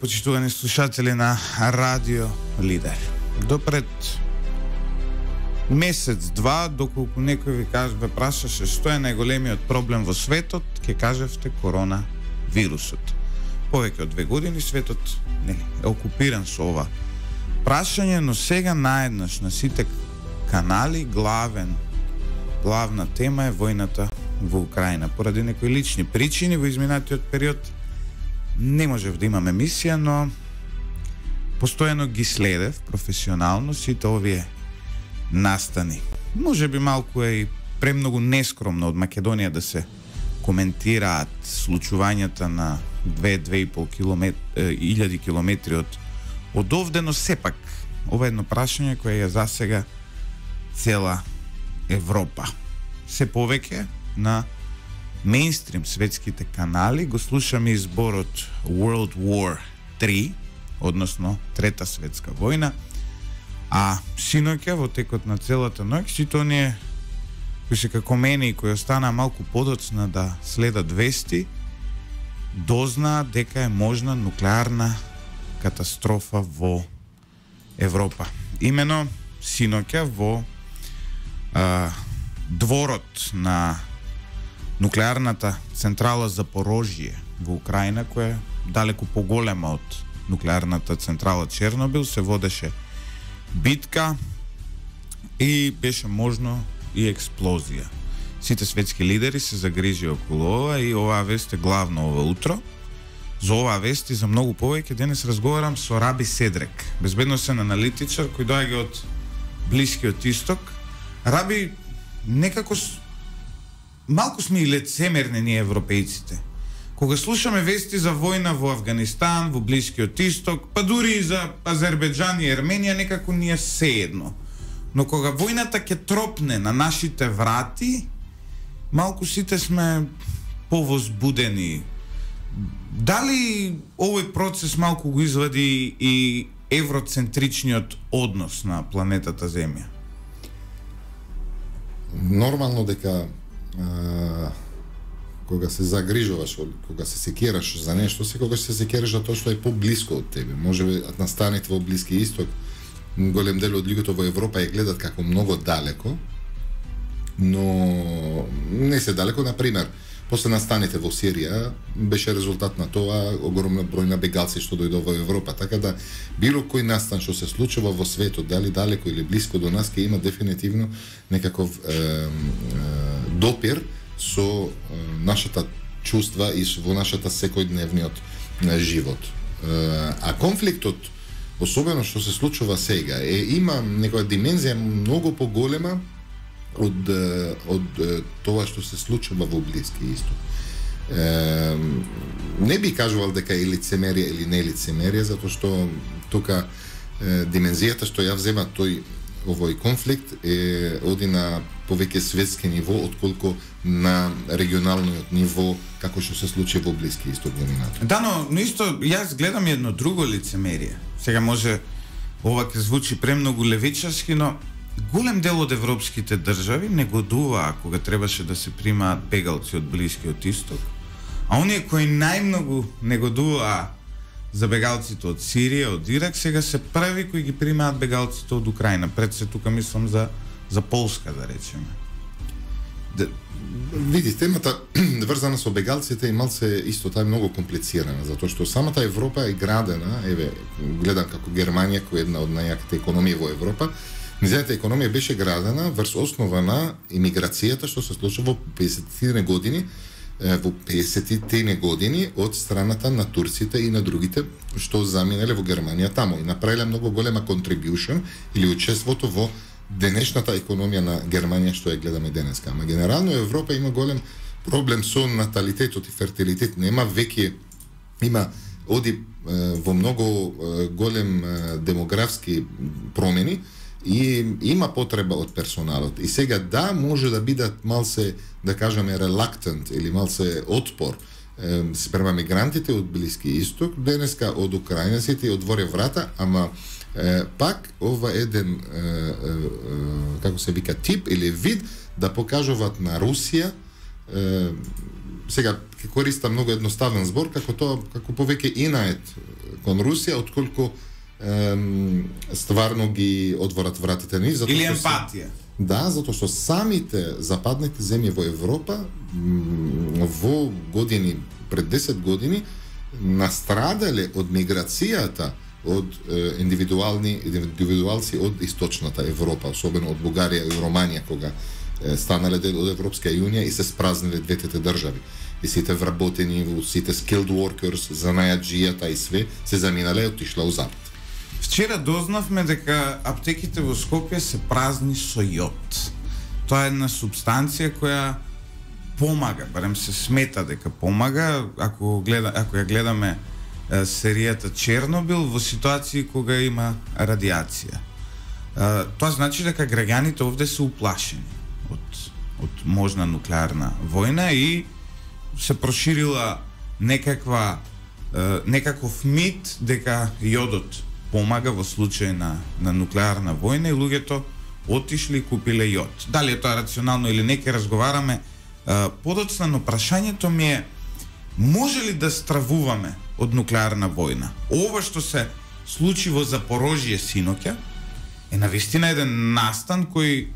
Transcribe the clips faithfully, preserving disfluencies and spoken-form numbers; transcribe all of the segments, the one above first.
Почитувани слушатели на Радио Лидер. Допред месец-два, доколку некој ви каже, ве прашаше што е најголемиот проблем во светот, ќе кажевте корона вирусот. Повеќе од две години светот не е окупиран со ова прашање, но сега наеднаш на сите канали главен главна тема е војната во Украина. Поради некои лични причини во изминатиот период не можев да имам емисија, но постојано ги следев професионално сите овие настани. Може би малку е и премногу нескромно од Македонија да се коментираат случувањата на две-две и пол илјади километри од од овде, но сепак ова е едно прашање кое е засега цела Европа. Се повеќе на мејнстрим светските канали го слушаме изборот World War три, односно Трета светска војна, а синоќа во текот на целата ноќ сите оние кои се како мене и кои останаа малку подоцна да следат вести, дознаат дека е можна нуклеарна катастрофа во Европа. Имено синоќа во а, дворот на нуклеарната централа Запорожје во Украина, која е далеку поголема од нуклеарната централа Чернобил, се водеше битка и беше можно и експлозија. Сите светски лидери се загрижија околу ова и оваа вест е главно ова утро. За оваа вест и за многу повеќе денес разговарам со Раби Седрек, безбедносен аналитичар кој доаѓа од Блискиот Исток. Раби, некако малку сме и лицемерни ние европејците. Кога слушаме вести за војна во Авганистан, во Блискиот Исток, па дури и за Азербејџан и Ерменија, некако ни е сеедно. Но кога војната ќе тропне на нашите врати, малку сите сме повозбудени. Дали овој процес малку го извади и евроцентричниот однос на планетата Земја? Нормално дека а, кога се загрижуваш, кога се секираш за нешто, секогаш се секираш за тоа што е поблиско од тебе. Може би настаните во Блиски Исток, голем дел од луѓето во Европа ја гледат како многу далеко, но не се далеко. Например, после настаните во Сирија беше резултат на тоа огромна број на бегалци што дојдоа во Европа, така да било кој настан што се случува во светот, дали далеко или блиско до нас, ќе има дефинитивно некаков е, е, допир со е, нашата чувства и во нашата секојдневниот е, живот. Е, а конфликтот, особено што се случува сега, е има некоја димензија многу поголема од од тоа што се случува во Блиски Исток. Е, не би кажувал дека е лицемерие или не лицемерие, затоа што тука е, димензијата што ја взема тој овој конфликт е оди на повеќе светски ниво отколку на регионалниот ниво, како што се случи во Блиски Исток во минатото. Да, но, но исто јас гледам едно друго лицемерие. Сега може ова ќе звучи премногу левичарски, но голем дел од европските држави негодуваа кога требаше да се примаат бегалци од Блискиот Исток, а оние кои најмногу негодуваа за бегалците од Сирија, од Ирак, сега се први кои ги примаат бегалците од Украина. Пред се тука мислам за за Полска, да речеме. Де, види, темата врзана со бегалците и малце исто таа е многу комплицирана, затоа што самата Европа е градена, еве, гледам како Германија, која е една од најаките економии во Европа. Низината економија беше градена врз основа на имиграцијата што се случува во песетте години, во песетте години од страната на турците и на другите што заминале во Германија таму и направиле многу голема contribution или учеството во денешната економија на Германија што ја гледаме денеска. Ама генерално Европа има голем проблем со наталитетот и фертилитет. Нема веќе, има оди во многу голем демографски промени и има потреба од персоналот. И сега да, може да бидат малце, да кажеме, reluctant или малце отпор е, спрема мигрантите од Блиски Исток, денеска од украинците отворе врата, ама е, пак ова еден е, е, е, како се вика тип или вид да покажуваат на Русија сега ќе користам многу едноставен збор, како тоа, како повеќе инает кон Русија отколку ем, стварно ги отворат вратите ни, затоа или што емпатија. Се, да, затоа што самите западните земји во Европа м, во години пред десет години настрадале од миграцијата од е, индивидуални индивидуалци од источната Европа, особено од Бугарија и Романија, кога е, станале дел од Европска јунија и се спразниле двете држави. И сите вработени, сите skilled workers, занајаджијата и све се заминале и отишла у запад. Вчера дознавме дека аптеките во Скопје се празни со јод. Тоа е една субстанција која помага, барем се смета дека помага, ако гледа, ако ја гледаме е, серијата Чернобил во ситуации кога има радиација. Е, тоа значи дека граѓаните овде се уплашени од од можна нуклеарна војна и се проширила некаква е, некаков мит дека јодот помага во случај на на нуклеарна војна и луѓето отишли и купиле јод. Дали е тоа рационално или не, ќе разговараме е, подоцна, но прашањето ми е: може ли да стравуваме од нуклеарна војна? Ова што се случи во Запорожје синоќа е навистина еден настан кој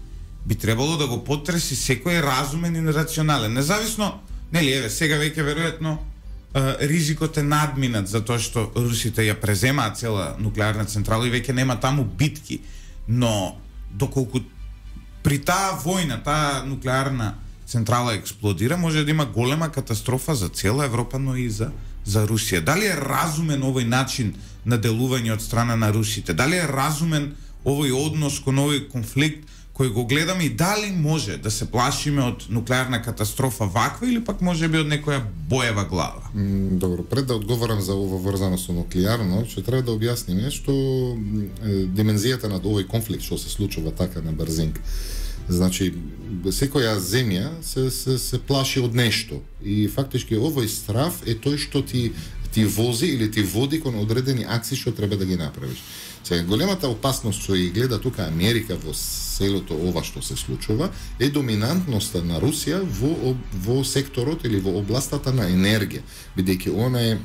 би требало да го потреси секој разумен и рационален. Независно, нели, еве, сега веќе веројатно ризикот е надминат затоа што русите ја преземаат цела нуклеарна централа и веќе нема таму битки, но доколку при таа војна, таа нуклеарна централа експлодира, може да има голема катастрофа за цела Европа, но и за за Русија. Дали е разумен овој начин на делување од страна на русите? Дали е разумен овој однос кон овој конфликт кој го гледаме и дали може да се плашиме од нуклеарна катастрофа ваква или пак може би од некоја боева глава? М, добро, пред да одговорам за ова врзано со нуклеарно, што треба да објасниме што е, димензијата на овој конфликт што се случува така на брзинг. Значи, секоја земја се, се, се плаши од нешто и фактички овој страв е тој што ти ти вози или ти води кон одредени акции што треба да ги направиш. Сега, големата опасност што ја гледа тука Америка во целото ова што се случува е доминантноста на Русија во, во секторот или во областата на енергија, бидејќи она е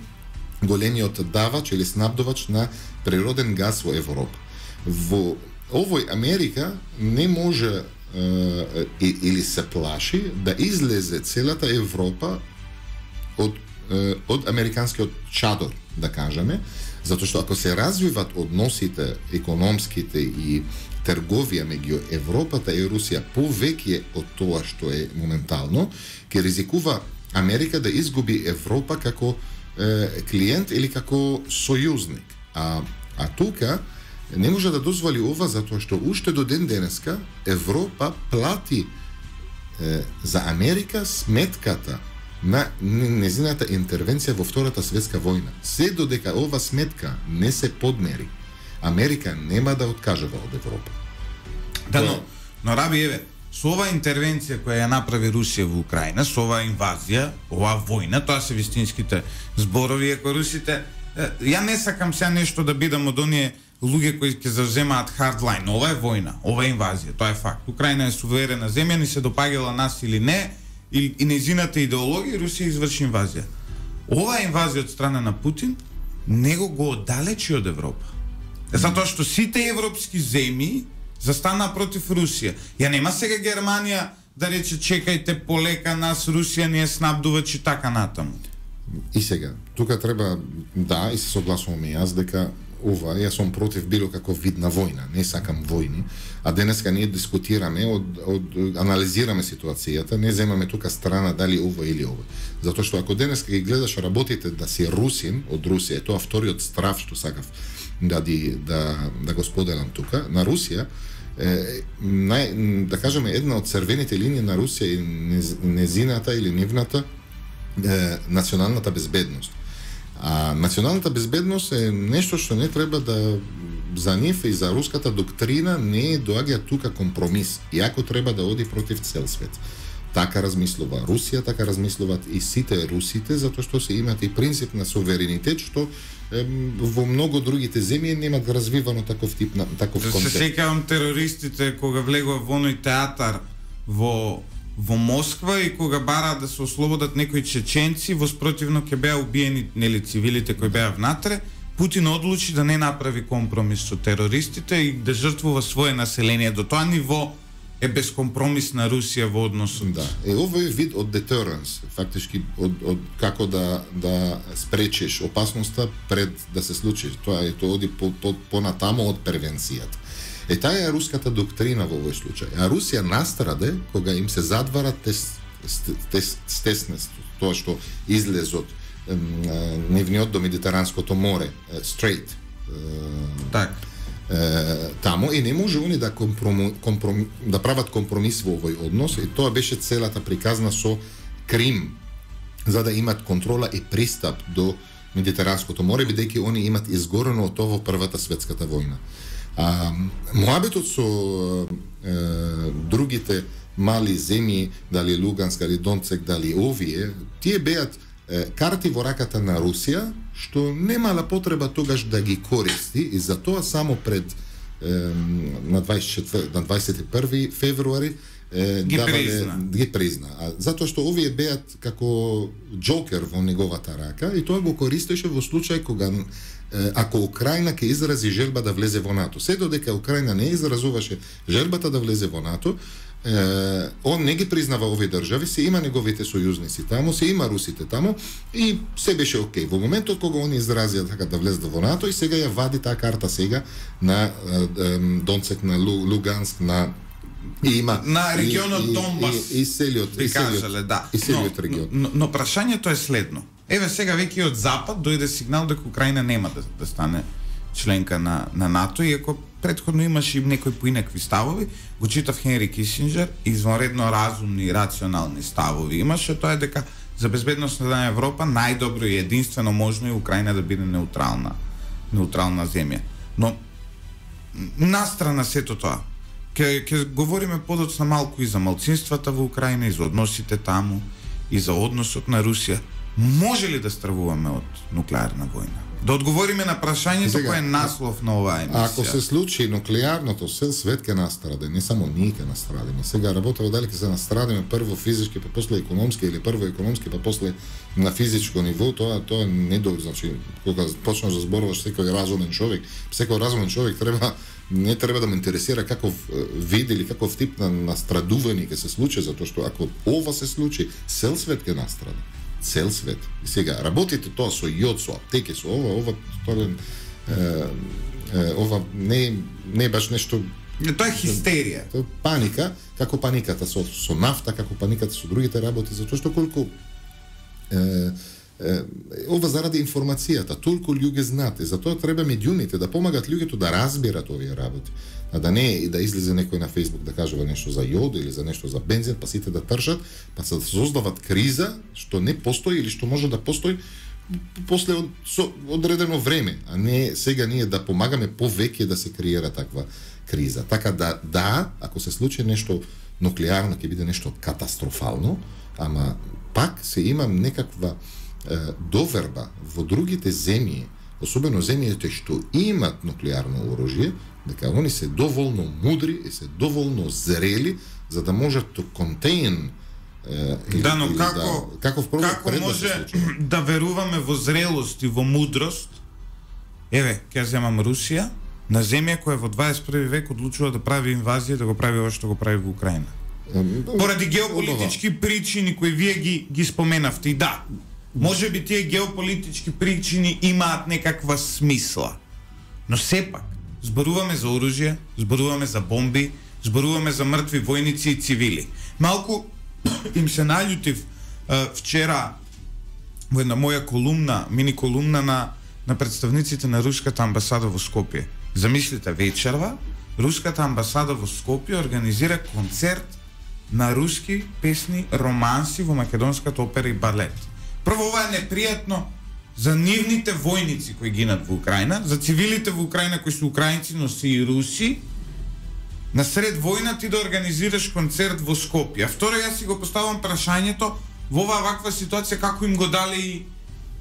големиот давач или снабдувач на природен газ во Европа. Во овој Америка не може е, или се плаши да излезе целата Европа од од американскиот чадор, да кажеме, затоа што ако се развиват односите економските и трговија меѓу Европата и Русија повеќе од тоа што е моментално, ќе ризикува Америка да изгуби Европа како е, клиент или како сојузник. А, а тука не може да дозволи ова затоа што уште до ден денеска Европа плати е, за Америка сметката на незината интервенција во Втората светска војна. Се додека ова сметка не се подмери, Америка нема да откажува од Европа. Да, но, но Раби, еве, со оваа интервенција која ја направи Русија во Украина, со оваа инвазија, оваа војна, тоа се вистинските зборови, ако русите, ја не сакам сега нешто да бидам од оние луѓе кои ќе завземаат хардлайн. Ова е војна, ова е инвазија, тоа е факт. Украина е суверена земја, ни се допаѓала нас или не, и, и незината идеологија, Русија изврши инвазија. Оваа инвазија од страна на Путин него го оддалечи од Европа. Затоа што сите европски земји застана против Русија. Ја нема сега Германија да рече чекајте полека нас Русија ни е снабдувач и така натаму. И сега, тука треба, да, и се согласувам и јас дека ова, јас сум против било каков вид на војна, не сакам војни, а денеска ние дискутираме, од, од, анализираме ситуацијата, не земаме тука страна дали ова или ова. Затоа што ако денеска ги гледаш работите да си русин од Русија, тоа вториот страв што сакав да, ди, да, да го споделам тука, на Русија, е, нај, да кажеме, една од црвените линии на Русија е незината или нивната е, националната безбедност. А националната безбедност е нешто што не треба да за нив и за руската доктрина не доаѓа тука компромис, иако треба да оди против цел свет. Така размислува Русија, така размислуваат и сите русите, затоа што се имат и принцип на суверенитет, што е, во многу другите земји немат развивано таков тип на таков концепт. Се сеќавам терористите кога влегува во оној театар во во Москва и кога бараат да се ослободат некои чеченци, воспротивно ќе беа убиени нели цивилите кои беа внатре, Путин одлучи да не направи компромис со терористите и да жртвува свое население. До тоа ниво е безкомпромисна Русија во односот. Да. Е, ова е вид од deterrence, фактички од, од како да да спречиш опасноста пред да се случи. Тоа е тоа оди по, по, понатамо од превенцијата. Е, таа е руската доктрина во овој случај. А Русија настраде кога им се задвара тес, тес, стеснест, тоа што излез од нивниот до Медитеранското море, straight. Так. Е, тамо и не може они да компром, компром, да прават компромис во овој однос и тоа беше целата приказна со Крим за да имат контрола и пристап до Медитеранското море бидејќи они имат изгорено од тоа во Првата светската војна. А муабетот со е, другите мали земји, дали Луганск, дали Донцек, дали овие, тие беат карти во раката на Русија, што немала потреба тогаш да ги користи и затоа само пред е, на дваесет и први февруари е, ги давале, призна. ги призна. А затоа што овие беат како джокер во неговата рака и тоа го користеше во случај кога е, ако Украина ќе изрази желба да влезе во НАТО. Се додека Украина не изразуваше желбата да влезе во НАТО, Е, он не ги признава овие држави, се има неговите сојузници таму, се има русите таму и се беше окей. Во моментот кога они изразија така да влезат во НАТО и сега ја вади таа карта сега на е, е, Донцек, на Лу, Луганск, на и има на регионот и, Донбас. И, и, и селиот, и селиот, да. и селиот но, регион. Но, но прашањето е следно. Еве сега веќе од запад дојде сигнал дека Украина нема да, да стане членка на, на НАТО, иако предходно имаше и некои поинакви ставови, го читав Хенри Кисинџер, извонредно разумни и рационални ставови имаше, тоа е дека за безбедност на Европа најдобро и единствено можно е Украина да биде неутрална, неутрална земја. Но настрана сето тоа, ќе ќе говориме подоцна малку и за малцинствата во Украина, и за односите таму, и за односот на Русија. Може ли да стравуваме од нуклеарна војна? Да одговориме на прашањето кој е наслов на оваа емисија. Ако се случи нуклеарното, цел свет ќе настраде, не само ние ќе настрадиме. Сега работава дали ќе се настрадиме прво физички, па после економски, или прво економски, па после на физичко ниво, тоа тоа не до, значи кога почнеш да зборуваш секој разумен човек, секој разумен човек треба не треба да ме интересира каков вид или каков тип на настрадување ќе се случи, затоа што ако ова се случи, цел свет ќе настраде. Цел свет. И сега работите тоа со јод, со аптеки, со ова, ова тоа е, е, ова не не е баш нешто. Тоа е хистерија. Тоа е паника, како паниката со со нафта, како паниката со другите работи, затоа што колку е, е, ова заради информацијата, толку луѓе знаат, затоа треба медиумите да помагат луѓето да разберат овие работи. А да не и да излезе некој на Facebook да кажува нешто за јод или за нешто за бензин, па сите да тршат, па се создават криза што не постои или што може да постои после од, со, одредено време, а не сега ние да помагаме повеќе да се креира таква криза. Така да, да, ако се случи нешто нуклеарно, ќе биде нешто катастрофално, ама пак се има некаква е, доверба во другите земји, особено земјите што имат нуклеарно оружје, дека они се доволно мудри и се доволно зрели за да можат да контейн или, да, но како да, каков како може да, да веруваме во зрелост и во мудрост? Еве, ќе земам Русија, на земја која во дваесет и први век одлучува да прави инвазија, да го прави ова што го прави во Украина. Поради геополитички причини кои вие ги ги споменавте. И да, може би тие геополитички причини имаат некаква смисла. Но сепак зборуваме за оружје, зборуваме за бомби, зборуваме за мртви војници и цивили. Малку им се наљутив е, вчера во една моја колумна, мини колумна на на представниците на руската амбасада во Скопје. Замислите, вечерва руската амбасада во Скопје организира концерт на руски песни, романси во македонската опера и балет. Прво, ова е непријатно за нивните војници кои гинат во Украина, за цивилите во Украина кои се украинци, но се и руси. На сред војна ти да организираш концерт во Скопје. А второ, јас си го поставам прашањето во оваа ваква ситуација како им го дали и,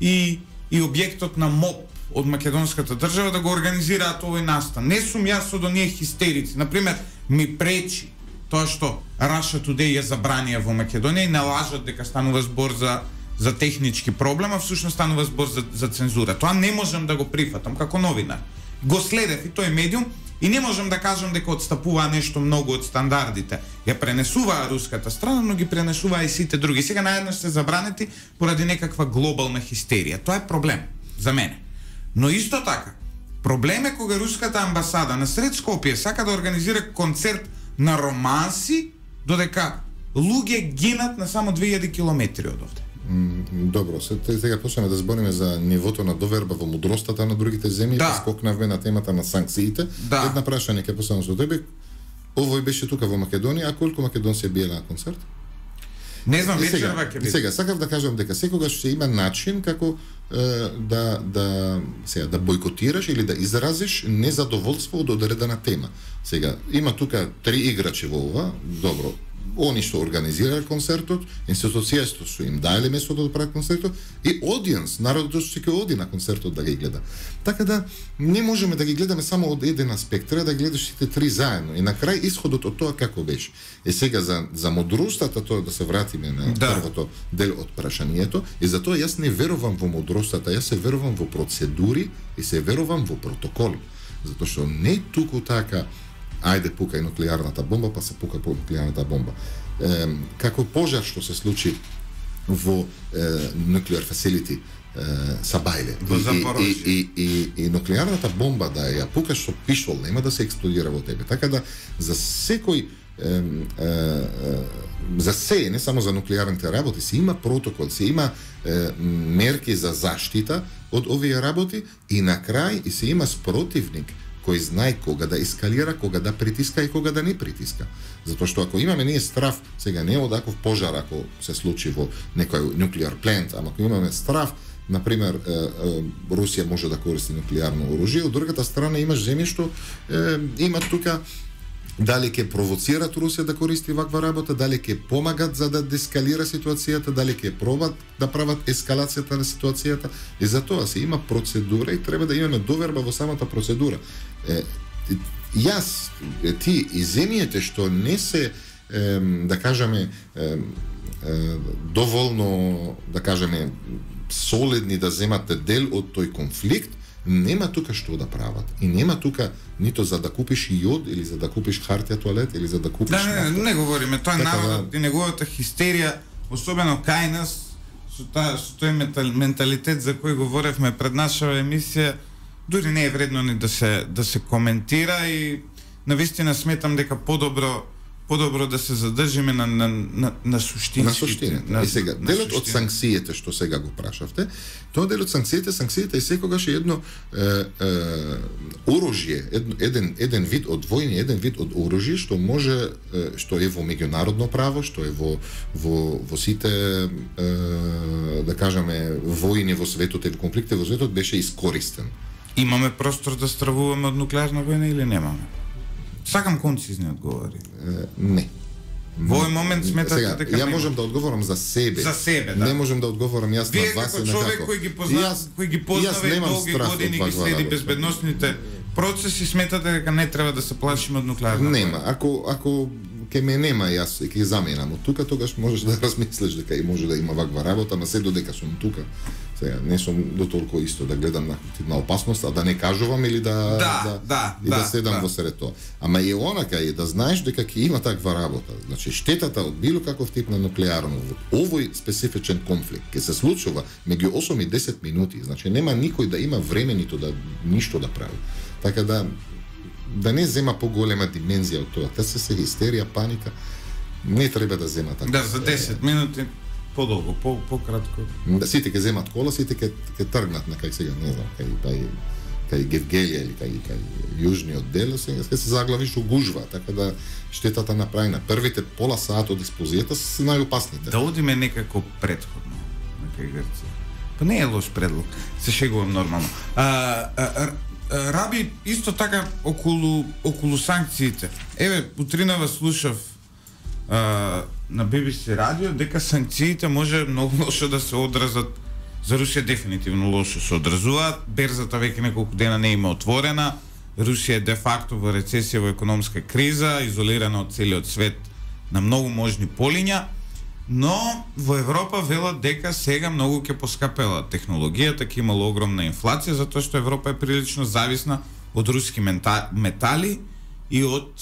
и, и објектот на МОП од македонската држава да го организираат овој настан. Не сум јас од оние хистерици. Например, ми пречи тоа што Russia Today ја забранија во Македонија и налажат дека станува збор за за технички проблема, всушност станува збор за, за цензура. Тоа не можам да го прифатам како новинар. Го следев и тој медиум и не можам да кажам дека отстапува нешто многу од стандардите. Ја пренесуваа руската страна, но ги пренесуваа и сите други. Сега наеднаш се забранети поради некаква глобална хистерија. Тоа е проблем за мене. Но исто така, проблем е кога руската амбасада на сред Скопје сака да организира концерт на романси, додека луѓе гинат на само две илјади километри од овде. Добро, сега почнеме да збориме за нивото на доверба во мудростата на другите земји, да. Скокнавме на темата на санкциите. Да. Една прашање ќе поставам со тебе. Овој беше тука во Македонија, а колку македонци биле на концерт? Не знам, вечерва ќе биде. Сега сакав да кажам дека секогаш ќе има начин како е, да да сега да бојкотираш или да изразиш незадоволство од одредена тема. Сега има тука три играчи во ова, добро. Они што организираа концертот, институцијата што им даеле местото да прават концертот и одиенс, народот што ќе оди на концертот да ги гледа. Така да не можеме да ги гледаме само од еден аспект, треба да гледаш сите три заедно и на крај исходот од тоа како беше. Е сега за за мудростата, тоа да се вратиме на да. првото дел од прашањето, и затоа јас не верувам во мудростата, јас се верувам во процедури и се верувам во протоколи. Затоа што не туку така ајде пука и нуклеарната бомба, па се пука по нуклеарната бомба. Е, како пожар што се случи во nuclear facility Сабајле и, и, и, и, и нуклеарната бомба да ја пукаш со пишол, нема да се експлодира во тебе. Така да за секој е, е, е, за се, не само за нуклеарните работи, се има протокол, се има е, мерки за заштита од овие работи и на крај и се има спротивник кој знае кога да ескалира, кога да притиска и кога да не притиска. Затоа што ако имаме ние страв, сега не од таков пожар ако се случи во некој нуклеар плент, ама ако имаме страв, например, е, е, Русија може да користи нуклеарно оружје, од другата страна имаш земји што е, има тука дали ќе провоцират Русија да користи ваква работа, дали ќе помагат за да дескалира ситуацијата, дали ќе пробат да прават ескалацијата на ситуацијата. И за тоа се има процедура и треба да имаме доверба во самата процедура. Е, јас, ти и земјите што не се, е, да кажеме, е, е, доволно, да кажеме, солидни да земате дел од тој конфликт, нема тука што да прават. И нема тука нито за да купиш јод, или за да купиш хартија тоалет, или за да купиш... Да, не, не, не говориме, тоа така народот да... и неговата хистерија, особено кај нас, со, та, со тој менталитет за кој говоревме пред нашава емисија, дури не е вредно ни да се, да се коментира и навистина сметам дека подобро подобро да се задржиме на на на на суштински. На суштината. И сега делот од санкциите што сега го прашавте, тоа дел од санкциите, санкциите е секогаш едно е, е, оружје, еден еден вид од војни, еден вид од оружје што може е, што е во меѓународно право, што е во во во сите е, да кажеме војни во светот или конфликти во светот беше искористен. Имаме простор да стравуваме од нуклеарна војна или немаме? Сакам концизни одговори. Uh, не. Во овој момент сметате сега, дека ја можам да одговорам за себе. За себе, да. Не можам да одговорам јас Вие на вас како човек кој ги познава, кој ги познава и долги години ги следи безбедносните процеси, сметате дека не треба да се плашиме од нуклеарна? Нема. Ако ако ке ме нема јас и ке заменам од тука, тогаш можеш да размислиш дека и може да има ваква работа, на се додека сум тука. Сега не сум до толку исто да гледам на, на опасност, а да не кажувам или да да, да, да и да, да седам да. во сред тоа. Ама е онака е да знаеш дека ќе има таква работа. Значи штетата од било каков тип на нуклеарно, овој специфичен конфликт ќе се случува меѓу осум и десет минути. Значи нема никој да има време ниту да ништо да прави. Така да да не зема поголема димензија од тоа. Та се се хистерија, паника. Не треба да зема така. Да, за десет минути подолго, по пократко. Да, сите ќе земат кола, сите ќе ќе тргнат на кај сега, не знам, кај кај кај Гевгелија или кај кај јужниот дел, сега ќе се заглавиш у гужва, така да штетата направена. Првите пола сат од експозијата се најопасните. Да одиме некако претходно на кај Грција. Па не е лош предлог. Се шегувам нормално. А, а, а Раби, исто така околу околу санкциите. Еве, утринава слушав а, на Би Би Си радио дека санкциите може многу лошо да се одразат. За Русија дефинитивно лошо се одразуваат. Берзата веќе неколку дена не има отворена. Русија е де факто во рецесија, во економска криза, изолирана од целиот свет на многу можни полиња. Но во Европа велат дека сега многу ќе поскапела технологијата, ќе имало огромна инфлација, затоа што Европа е прилично зависна од руски мента, метали и од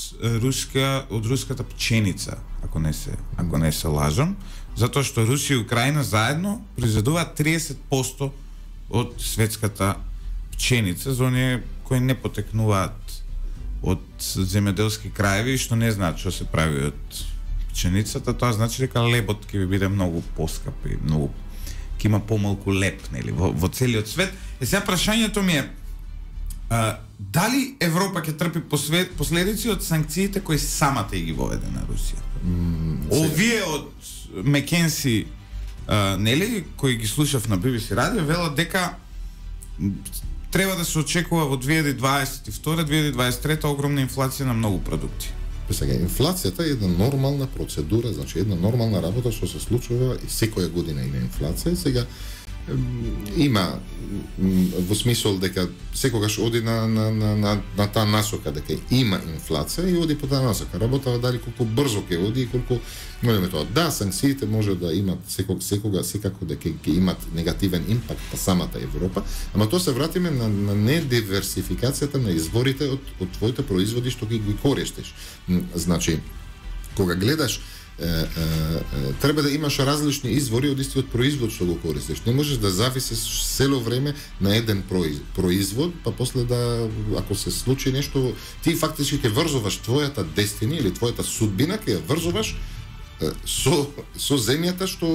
руска од руската пченица, ако не се ако не се лажам, затоа што Русија и Украина заедно произведуваат триесет проценти од светската пченица за оние кои не потекнуваат од земјоделски краеви, што не знаат што се прави од пченицата, тоа значи дека лебот ќе ви биде многу поскап и многу ќе има помалку леб, нели, во, во целиот свет. Е сега прашањето ми е а, дали Европа ќе трпи последици од санкциите кои самата ги воведе на Русија? Mm, Овие од Мекенси, а, нели, кои ги слушав на Би Би Си радио, велат дека треба да се очекува во две илјади дваесет и втора - две илјади дваесет и трета огромна инфлација на многу продукти. Сега, инфлацијата е една нормална процедура, значи една нормална работа што се случува и секоја година има инфлација. Сега има во смисол дека секогаш оди на на на на, на таа насока дека има инфлација и оди по таа насока. Работава дали колку брзо ќе оди и колку нема тоа. Да, санкциите може да имат секог секога секако дека ќе имат негативен импакт на самата Европа, ама тоа се вратиме на, на недиверсификацијата на изворите од од твоите производи што ги ги користиш. Значи, кога гледаш Е, е, е, треба да имаш различни извори од истиот производ што го користиш. Не можеш да зависиш цело време на еден производ, па после да, ако се случи нешто, ти фактички ќе врзуваш твојата дестина или твојата судбина, ќе ја врзуваш е, со, со земјата што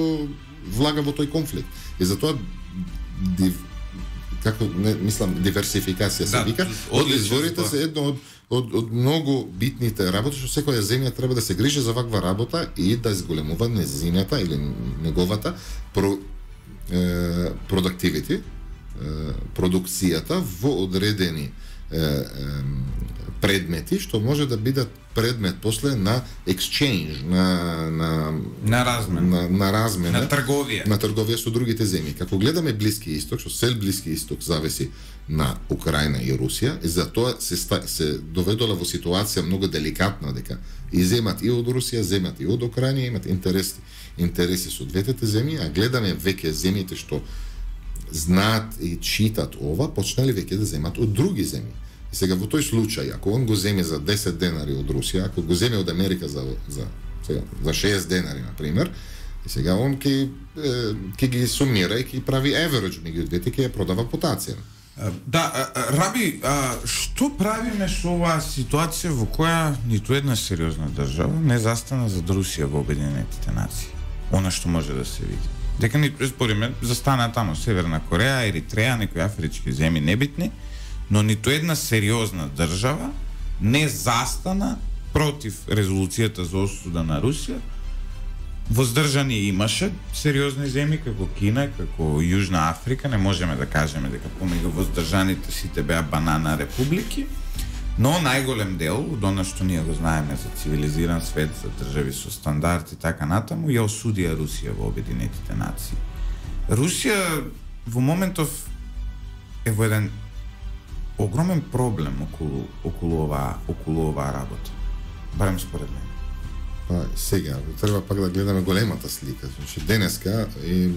влага во тој конфликт. И затоа див, како не мислам диверсификација се да, вика, од изворите се едно од Од, од многу битните работи што секоја земја треба да се грижи за ваква работа и да зголемува незината или неговата про, е, продуктивити, е, продукцијата во одредени е, е, предмети што може да бидат предмет после на exchange, на на на размена, на, на размена, на трговија, на трговија со другите земји. Како гледаме Блиски Исток, што цел Блиски Исток зависи на Украина и Русија, и затоа се се доведола во ситуација многу деликатна дека и земат и од Русија, земат и од Украина, имат интереси интереси со двете земји, а гледаме веќе земјите што знаат и читат ова, почнали веќе да земат од други земји. И сега во тој случај, ако он го земе за десет денари од Русија, ако го земе од Америка за за сега за шест денари на пример, и сега он ќе ќе ги сумира и ќе прави average меѓу двете, ќе ја продава по таа цена. Да, Раби, а, што правиме со оваа ситуација во која ниту една сериозна држава не застана зад Русија во Обединетите нации? Она што може да се види. Дека ниту, спориме, застана таму Северна Кореја, Еритреја, некои афрички земји небитни, но ниту една сериозна држава не застана против резолуцијата за осуда на Русија. Воздржани имаше сериозни земји како Кина, како Јужна Африка, не можеме да кажеме дека помеѓу воздржаните сите беа банана републики, но најголем дел од она што ние го знаеме за цивилизиран свет, за држави со стандард и така натаму, ја осудија Русија во Обединетите нации. Русија во моментов е во еден огромен проблем околу околу оваа околу оваа работа. Барем според мене. Па сега треба пак да гледаме големата слика. Значи денеска е,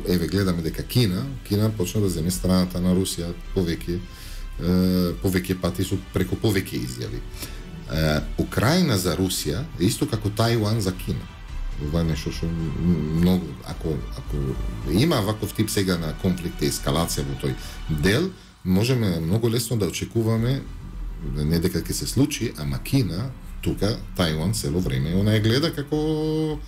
еве гледаме дека Кина, Кина почна да земе страната на Русија повеќе е, повеќе пати со преку повеќе изјави. Е, Украина за Русија е исто како Тајван за Кина. Ова е нешто што многу ако ако има ваков тип сега на конфликт и ескалација во тој дел, можеме многу лесно да очекуваме не дека ќе се случи, ама Кина тука Тајван цело време она ја гледа како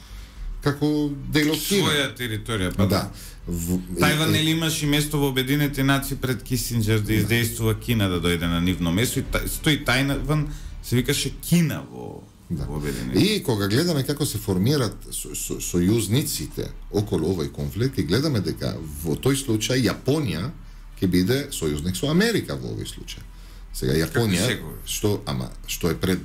како дел од Кина. Своја територија, па да. В... Тајван нели имаше место во Обединетите нации пред Кисинџер да издействува Кина да дојде на нивно место и та... стои Тајван се викаше Кина во да. Во Обединетите. И кога гледаме како се формираат со, со, сојузниците околу овој конфликт, и гледаме дека во тој случај Јапонија ќе биде сојузник со Америка во овој случај. Сега Јапонија што ама што е пред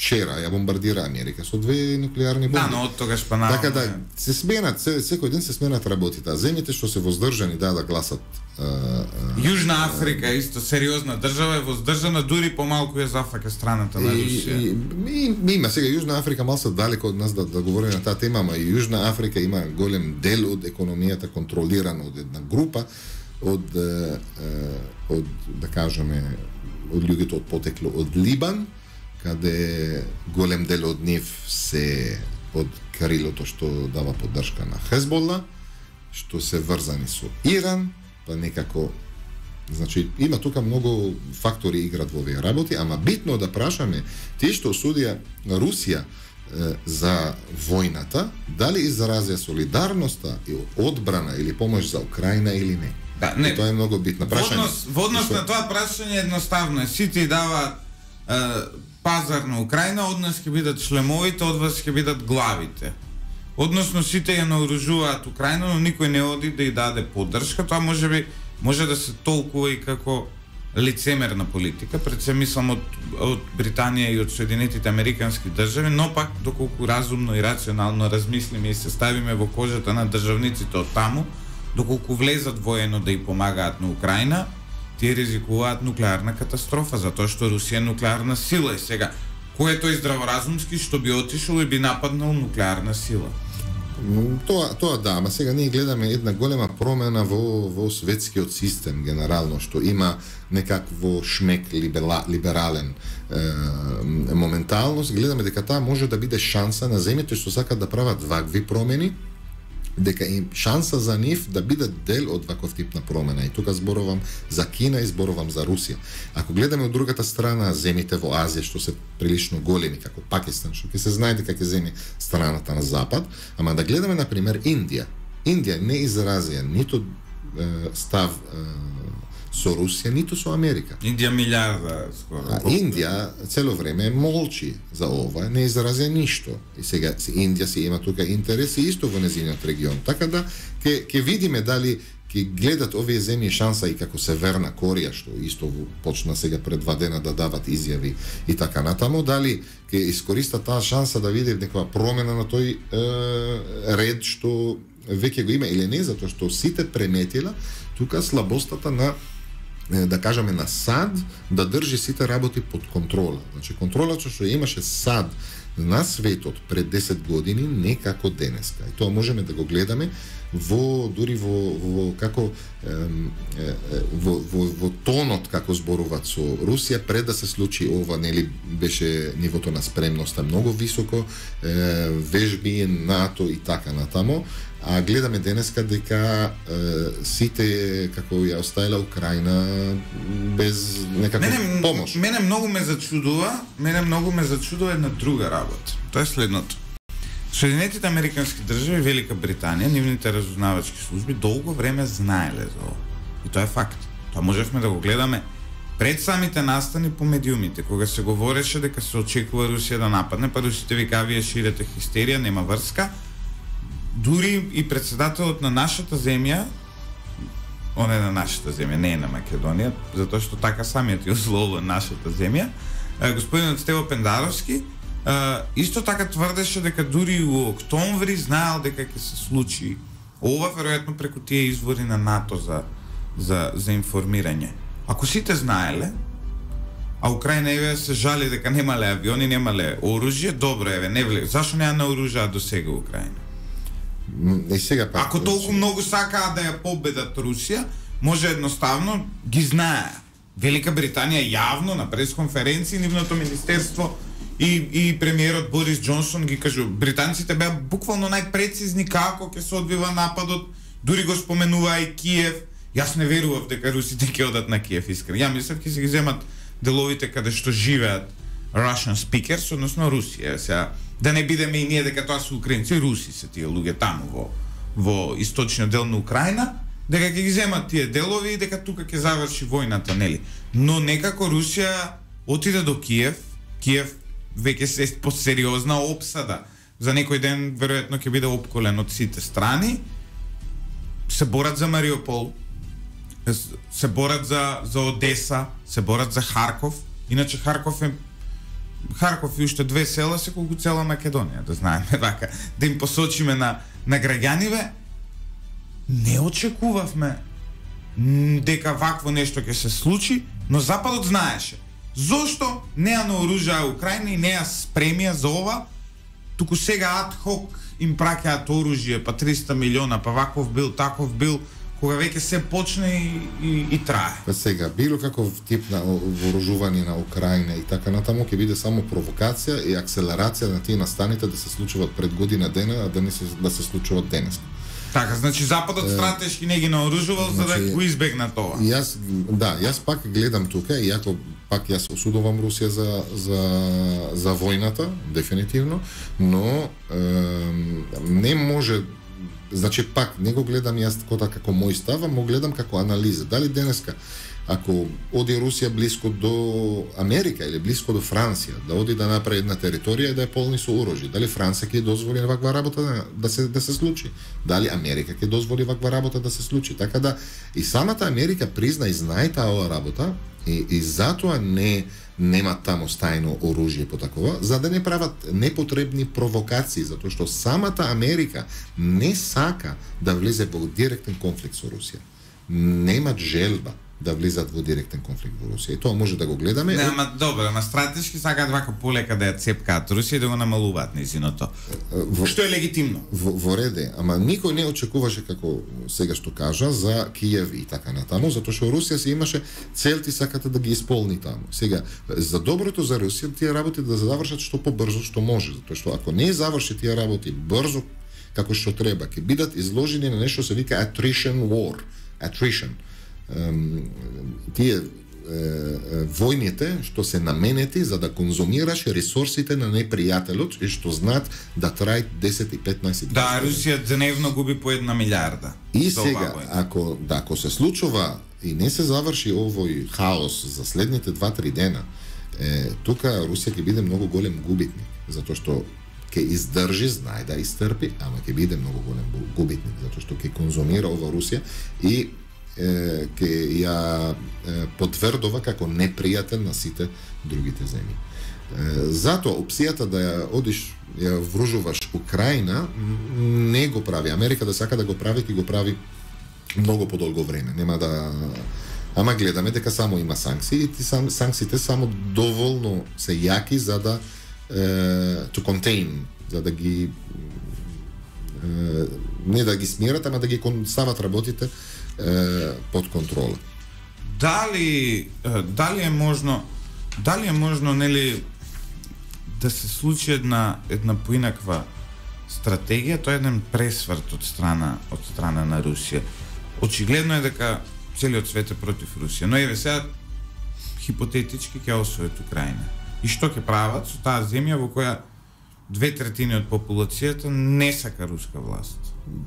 вчера ја бомбардира Америка со две нуклеарни бомби. Да, но од тогаш па наравно. Така да се сменат, се, секој ден се сменат работите. А земјите што се воздржани да да гласат. А, а, Јужна Африка е исто сериозна држава, е воздржана, дури помалку ја зафаќа страната на Русија. И, и, и, има сега Јужна Африка малку далеко од нас да да говориме на таа тема, ама и Јужна Африка има голем дел од економијата контролирана од една група од од да кажеме од луѓето од потекло од Либан, каде голем дел од нив се од крилото што дава поддршка на Хезбола, што се врзани со Иран, па некако, значи има тука многу фактори играат во овие работи, ама битно да прашаме тие што осудија Русија е, за војната, дали изразија солидарноста и одбрана или помош за Украина или не. Да, не. И тоа е многу битно прашање. Во однос, во однос на тоа прашање едноставно е, сите даваат пазар на Украина, од нас ќе бидат шлемовите, од вас ќе бидат главите. Односно сите ја наоружуваат Украина, но никој не оди да ја даде поддршка. Тоа можеби може да се толкува и како лицемерна политика, пред се мислам од, од Британија и од Соединетите Американски држави, но пак доколку разумно и рационално размислиме и се ставиме во кожата на државниците од таму, доколку влезат воено да ја помагаат на Украина, тие ризикуваат нуклеарна катастрофа, затоа што Русија е нуклеарна сила и сега кој е тој здраворазумски што би отишол и би нападнал нуклеарна сила? Тоа, тоа да, ама сега ние гледаме една голема промена во, во светскиот систем генерално, што има некакво шмек либера, либерален е, моменталност. Гледаме дека таа може да биде шанса на земјите што сакат да прават вакви промени, дека им шанса за нив да бидат дел од ваков тип на промена. И тука зборувам за Кина и зборувам за Русија. Ако гледаме од другата страна земите во Азија што се прилично големи, како Пакистан, што ќе се знае дека ќе земе страната на запад, ама да гледаме на пример Индија. Индија не изразија ниту е, став е, со Русија, ниту со Америка. Индија милиарда скоро. А Индија цело време молчи за ова, не изразија ништо. И сега Индија си има тука интереси исто во незиниот регион. Така да ќе ќе видиме дали ќе гледат овие земји шанса и како Северна Кореја, што исто почна сега пред два дена да дават изјави и така натаму, дали ќе искористат таа шанса да види некоја промена на тој е, ред што веќе го има или не, затоа што сите преметила тука слабостата на да кажеме на САД да држи сите работи под контрола. Значи контролата што имаше САД на светот пред десет години не како денеска. И тоа можеме да го гледаме во дури во, во како е, е, во, во, во тонот како зборуваат со Русија пред да се случи ова, нели беше нивото на спремноста многу високо, е, вежби НАТО и така натаму. А гледаме денеска дека е, сите како ја оставила Украина без некаква мене, помош. Мене многу ме зачудува, мене многу ме зачудува една друга работа. Тоа е следното. Соединетите Американски држави, Велика Британија, нивните разузнавачки служби долго време знаеле за ова. И тоа е факт. Тоа можевме да го гледаме пред самите настани по медиумите, кога се говореше дека се очекува Русија да нападне, па русите викаа вие ширете хистерија, нема врска. Дури и председателот на нашата земја, он е на нашата земја, не е на Македонија, затоа што така самиот ја озловува нашата земја, господинот Стево Пендаровски, исто така тврдеше дека дури у октомври знаел дека ќе се случи ова, веројатно преку тие извори на НАТО за, за, за информирање. Ако сите знаеле, а Украина еве се жали дека немале авиони, немале оружје, добро еве, не вле. Зашо не ја наоружаа до сега Украина? И сега пак, ако толку многу сакаат да ја победат Русија, може едноставно ги знае. Велика Британија јавно на пресконференција, нивното министерство и, и премиерот Борис Џонсон ги кажу, британците беа буквално најпрецизни како ќе се одвива нападот, дури го споменуваа и Киев. Јас не верував дека русите ќе одат на Киев, искрено. Ја мислев ќе се ги земат деловите каде што живеат Russian speakers, односно Русија. Сега да не бидеме и ние дека тоа се украинци, руси се тие луѓе таму во во источниот дел на Украина, дека ќе ги земат тие делови и дека тука ќе заврши војната, нели? Но некако Русија отиде до Киев, Киев веќе се посериозна опсада. За некој ден веројатно ќе биде опколен од сите страни. Се борат за Мариупол, се борат за за Одеса, се борат за Харков. Иначе Харков е Харков и уште две села се колку цела Македонија, да знаеме вака, да им посочиме на на граѓаниве. Не очекувавме дека вакво нешто ќе се случи, но Западот знаеше. Зошто не ја наоружаа Украина и не ја спремија за ова, туку сега ад хок им праќаат оружје, па триста милиона, па ваков бил, таков бил, кога веќе се почне и, и, и трае. Па сега, било каков тип на вооружување на Украина и така натаму ќе биде само провокација и акселерација на тие настаните да се случуваат пред година дена, а да не се, да се случуваат денес. Така, значи Западот е, стратешки не ги наоружувал значи, за да го избегна тоа. Јас, да, јас пак гледам тука, иако пак јас осудувам Русија за, за, за војната, дефинитивно, но е, не може. Значи пак не го гледам јас како мој став, а го гледам како анализа. Дали денеска ако оди Русија блиско до Америка или блиско до Франција, да оди да направи една територија и да ја полни со оружје, дали Франција ќе дозволи ваква работа да, да се да се случи? Дали Америка ќе дозволи ваква работа да се случи? Така да и самата Америка призна и знае таа ова работа и, и затоа не нема таму стајно оружје по такова, за да не прават непотребни провокации, затоа што самата Америка не сака да влезе во директен конфликт со Русија. Немат желба да влизат во директен конфликт во Русија. И тоа може да го гледаме. Не, ама добро, ама стратешки сакаат вака полека да ја цепкаат Русија и да го намалуваат нејзиното. Што е легитимно. Во, во реде, ама никој не очекуваше како сега што кажа за Киев и така натаму, затоа што Русија се имаше целти сакате да ги исполни таму. Сега за доброто за Русија тие работи да завршат што побрзо што може, затоа што ако не заврши тие работи брзо како што треба, ќе бидат изложени на нешто се вика attrition war, attrition. Um, тие uh, војните што се наменети за да конзумираш ресурсите на непријателот и што знаат да трајат десет и петнаесет. Да, Русија дневно губи по една милиарда. И сега, ако да ако се случува и не се заврши овој хаос за следните два-три дена, е, тука Русија ќе биде многу голем губитник, затоа што ќе издржи, знае да истрпи, ама ќе биде многу голем губитник, затоа што ќе конзумира ова Русија и ќе ја потврдува како непријател на сите другите земји. Затоа опцијата да ја одиш, ја вружуваш Украина, не го прави. Америка да сака да го прави, ќе го прави многу подолго време. Нема да... Ама гледаме дека само има санкции и ти сам, санкциите само доволно се јаки за да to contain, за да ги не да ги смират, ама да ги стават работите под контрола. Дали дали е можно дали е можно нели да се случи една една поинаква стратегија, тоа е еден пресврт од страна од страна на Русија. Очигледно е дека целиот свет е против Русија, но еве сега хипотетички ќе освојат Украина. И што ќе прават со таа земја во која две третини од популацијата не сака руска власт?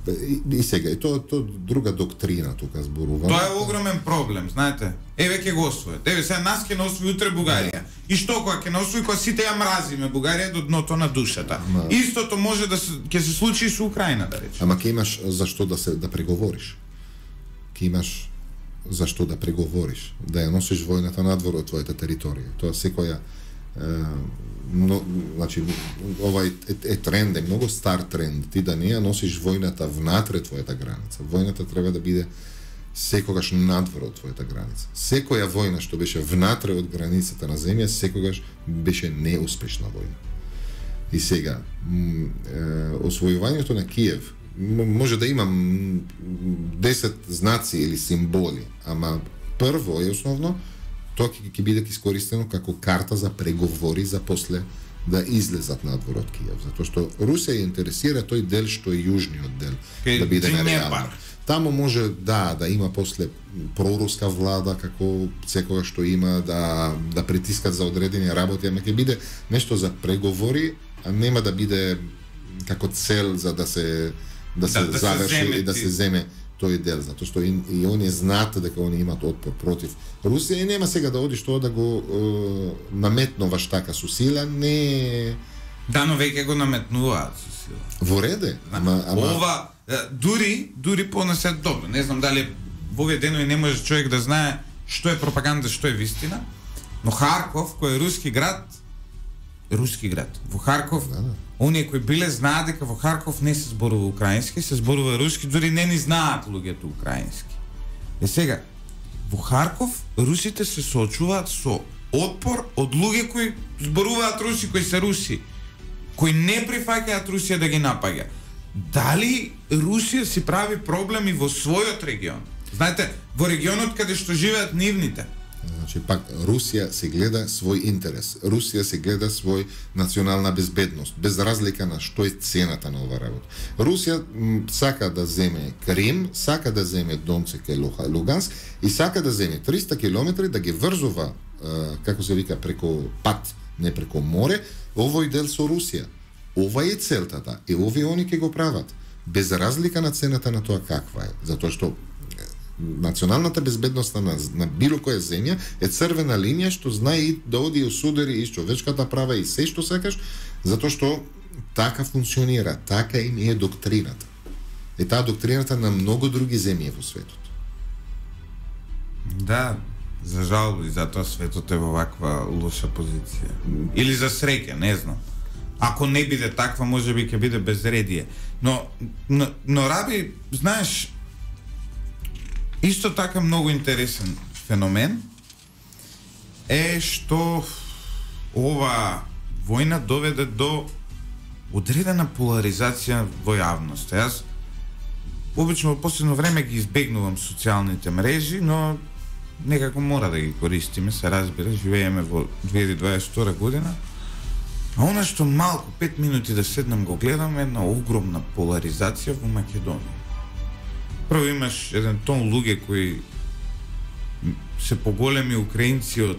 И, и сега, и тоа то друга доктрина тука зборува. Тоа е огромен проблем, знаете. Еве ќе го освојат. Еве сега нас ќе освои утре Бугарија. И што кога ќе освои, кога сите ја мразиме Бугарија до дното на душата. Ама... Истото може да се ќе се случи и со Украина, да речеме. Ама ќе имаш зашто да се да преговориш. Ќе имаш зашто да преговориш, да ја носиш војната надвор од твојата територија. Тоа секоја но, значи, ова е, е тренд, е многу стар тренд, ти да не ја носиш војната внатре твојата граница. Војната треба да биде секогаш надвор од твојата граница. Секоја војна што беше внатре од границата на земја, секогаш беше неуспешна војна. И сега, освојувањето на Киев може да има десет знаци или символи, ама прво и основно тоа ќе ќе биде искористено како карта за преговори за после да излезат надвор од Киев, затоа што Русија ја интересира тој дел што е јужниот дел, Ке, да биде нереално. Таму може да да има после проруска влада како секогаш што има да да притискат за одредени работи, ама ќе биде нешто за преговори, а нема да биде како цел за да се да се да, да заврши се и да се земе тој дел, затоа што и, и они знаат дека они имаат отпор против Русија и нема сега да одиш тоа да го е, наметнуваш така со сила, не... Да, но веќе го наметнуваат со сила. Во реде, ама... ама... Ова, дури, дури понесет добро, не знам дали во овие денови не може човек да знае што е пропаганда, што е вистина, но Харков, кој е руски град, руски град. Во Харков, Да, да. оние кои биле знаат дека во Харков не се зборува украински, се зборува руски, дури не ни знаат луѓето украински. Е сега, во Харков русите се соочуваат со отпор од луѓе кои зборуваат руси, кои се руси, кои не прифаќаат Русија да ги напаѓа. Дали Русија си прави проблеми во својот регион? Знаете, во регионот каде што живеат нивните. Значи, пак, Русија се гледа свој интерес. Русија се гледа свој национална безбедност, без разлика на што е цената на ова работа. Русија м, сака да земе Крим, сака да земе Донцик и Луганск и сака да земе триста километри да ги врзува, е, како се вика, преко пат, не преко море, овој дел со Русија. Ова е целтата и овие они ќе го прават, без разлика на цената на тоа каква е, затоа што националната безбедност на, на било која земја е црвена линија што знае и да оди и осудери и човечката права и се што сакаш, затоа што така функционира, така им е доктрината. И таа доктрината на многу други земји во светот. Да, за жал и затоа светот е во ваква лоша позиција. Или за среќа, не знам. Ако не биде таква, можеби ќе биде безредие. Но, но, но Раби, знаеш, исто така многу интересен феномен е што ова војна доведе до одредена поларизација во јавноста. Јас обично во последно време ги избегнувам социјалните мрежи, но некако мора да ги користиме, се разбира, живееме во две илјади дваесет и втора година. А она што малку, пет минути да седнам го гледам, една огромна поларизација во Македонија. Прво имаш еден тон луѓе кои се поголеми украинци од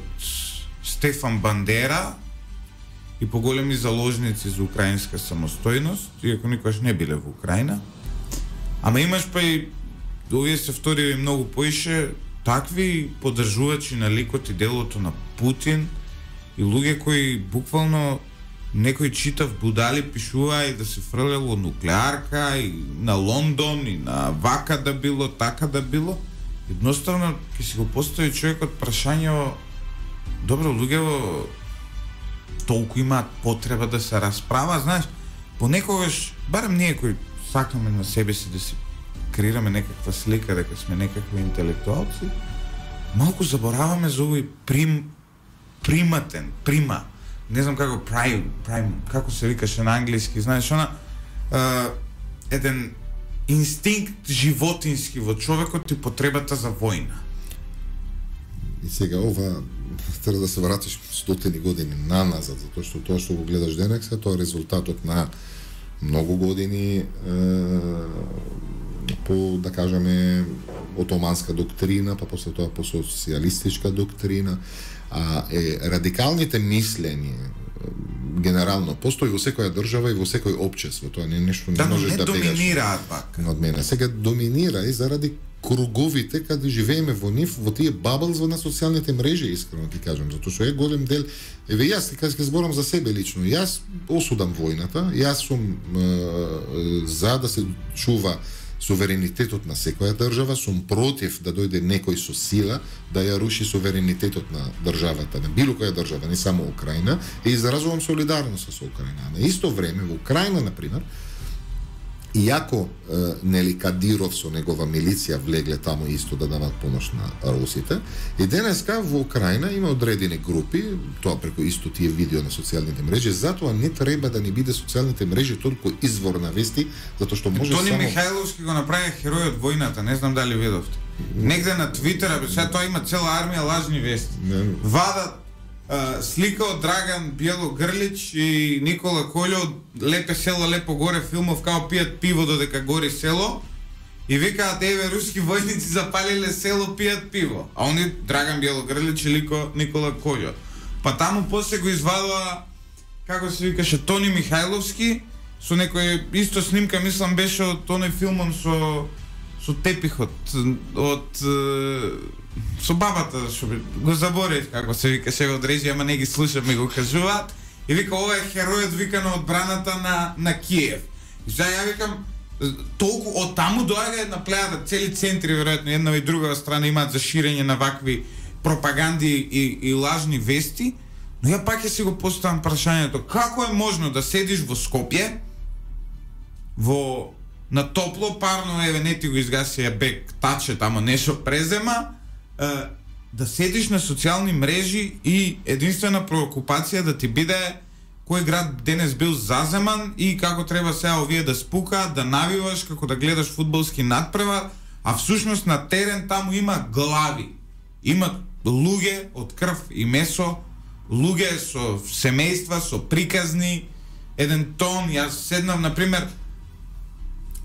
Стефан Бандера и поголеми заложници за украинска самостојност, иако никогаш не биле во Украина. Ама имаш па и, овие се вториви многу поише, такви поддржувачи на ликот и делото на Путин и луѓе кои буквално некој читав будали пишува и да се фрлело нуклеарка и на Лондон и на вака да било, така да било. Едноставно ќе си го постави човекот прашање, добро, луѓето толку имаат потреба да се расправа, знаеш, понекогаш, барем ние кои сакаме на себе си да си креираме некаква слика дека сме некакви интелектуалци, малку забораваме за овој прим, приматен, прима, не знам како prime, prime, како се викаше на англиски, знаеш, она uh, еден инстинкт животински во човекот и потребата за војна. И сега ова треба да се вратиш стотини години наназад, затоа што тоа што го гледаш денеска, тоа е резултатот на многу години е, по, да кажеме, отоманска доктрина, па после тоа по социјалистичка доктрина, а е радикалните мислење генерално постои во секоја држава и во секој општество. Тоа не е нешто не да, можеш не да бегаш. доминираат пак. Од мене. Сега доминира и заради круговите каде живееме во нив, во тие баблс на социјалните мрежи, искрено ти кажам, затоа што е голем дел. Еве јас ти кажам, зборам за себе лично. Јас осудам војната, јас сум е, за да се чува суверенитетот на секоја држава, сум против да дојде некој со сила да ја руши суверенитетот на државата, на било која држава, не само Украина, и изразувам солидарност со Украина. На исто време во Украина, например, иако е, нели Кадиров со негова милиција влегле таму исто да дават помош на русите, и денеска во Украина има одредени групи, тоа преку исто тие видео на социјалните мрежи, затоа не треба да ни биде социјалните мрежи толку извор на вести, затоа што може Тони само... Михајловски го направи херој од војната, не знам дали видовте. Негде на Твитер, бе, сега тоа има цела армија лажни вести. Не. Вадат Uh, слика од Драган Биело Грлич и Никола Колјо, лепе село, лепо горе, филмов као пијат пиво додека гори село и викаат, еве, руски војници запалиле село, пијат пиво, а они Драган Биело Грлич и Лико, Никола Колјо. Па таму после го извадува, како се викаше, Тони Михајловски со некој исто снимка, мислам беше од тоној филмом со со тепихот од со бабата, што го заборев како се викаше од режија, ама не ги слушам и го кажуваат. И вика, ова е херојот вика на одбраната на на Киев. И сега ја викам, толку од таму доаѓа една плејада, цели центри веројатно една и друга страна имаат за ширење на вакви пропаганди и, и лажни вести, Но ја пак ќе си го поставам прашањето, како е можно да седиш во Скопје, во на топло, парно, еве не ти го изгаси бек, таче тамо нешто презема, е, да седиш на социјални мрежи и единствена преокупација да ти биде кој град денес бил заземан и како треба сега овие да спукаат, да навиваш, како да гледаш фудбалски надпревар, а всушност на терен таму има глави. Има луѓе од крв и месо, луѓе со семејства, со приказни, еден тон. Јас седнав, например,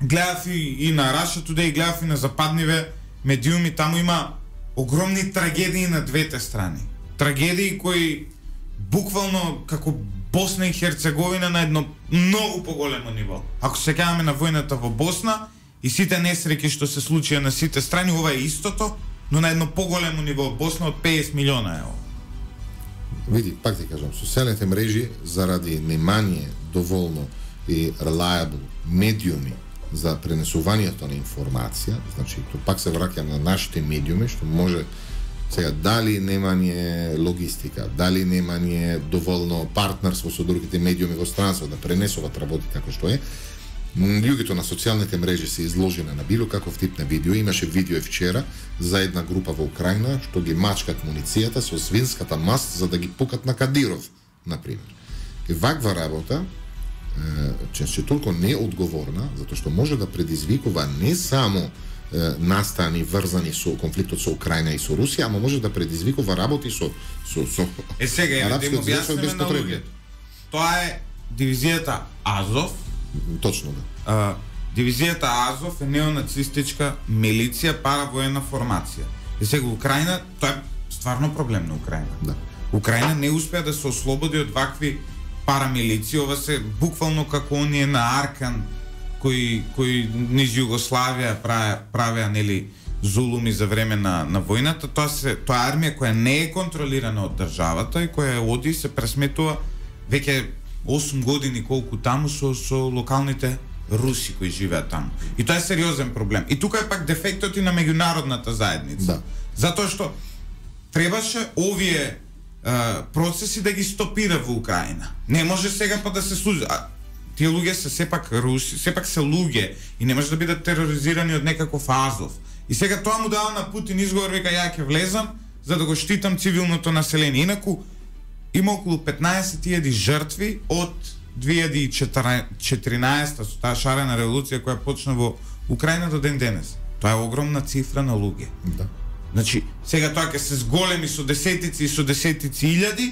гледав и, и на Russia Today, гледав и на западниве медиуми, таму има огромни трагедии на двете страни. Трагедии кои буквално како Босна и Херцеговина на едно многу поголемо ниво. Ако се сеќаваме на војната во Босна и сите несреќи што се случија на сите страни, ова е истото, но на едно поголемо ниво. Босна од песет милиона е ова. Види, пак ти кажам, социјалните мрежи заради немање доволно и reliable медиуми за пренесувањето на информација, значи тоа пак се враќам на нашите медиуми, што може сега дали немање логистика, дали немање доволно партнерство со другите медиуми во странство да пренесуваат работи како што е, луѓето на социјалните мрежи се изложени на било каков тип на видео. Имаше видео вчера за една група во Украина што ги мачкат муницијата со свинската маст за да ги пукат на Кадиров, например. И ваква работа често толку неодговорна, затоа што може да предизвикува не само е, настани врзани со конфликтот со Украина и со Русија, ама може да предизвикува работи со со со Е сега ја да им објасниме на луѓето. Тоа е дивизијата Азов. Точно да. А, дивизијата Азов е неонацистичка милиција, паравоена формација. И сега Украина, тоа е стварно проблем на Украина. Да. Украина не успеа да се ослободи од вакви парамилиција, ова се буквално како оние на Аркан кои кои низ Југославија правеа правеа нели зулуми за време на на војната. Тоа се тоа е армија која не е контролирана од државата и која оди се пресметува веќе осум години колку таму со со локалните руси кои живеат таму. И тоа е сериозен проблем. И тука е пак дефектот и на меѓународната заедница. Да. Затоа што требаше овие Uh, процеси да ги стопира во Украина. Не може сега па да се служи. А, тие луѓе се сепак руси, сепак се луѓе и не може да бидат тероризирани од некаков Азов. И сега тоа му дава на Путин изговор, вика ја ќе влезам за да го штитам цивилното население. Инаку има околу петнаесет илјади жртви од две илјади и четиринаесета со таа шарена револуција која почна во Украина до ден денес. Тоа е огромна цифра на луѓе. Да. Значи, сега тоа ќе се зголеми со десетици и со десетици илјади,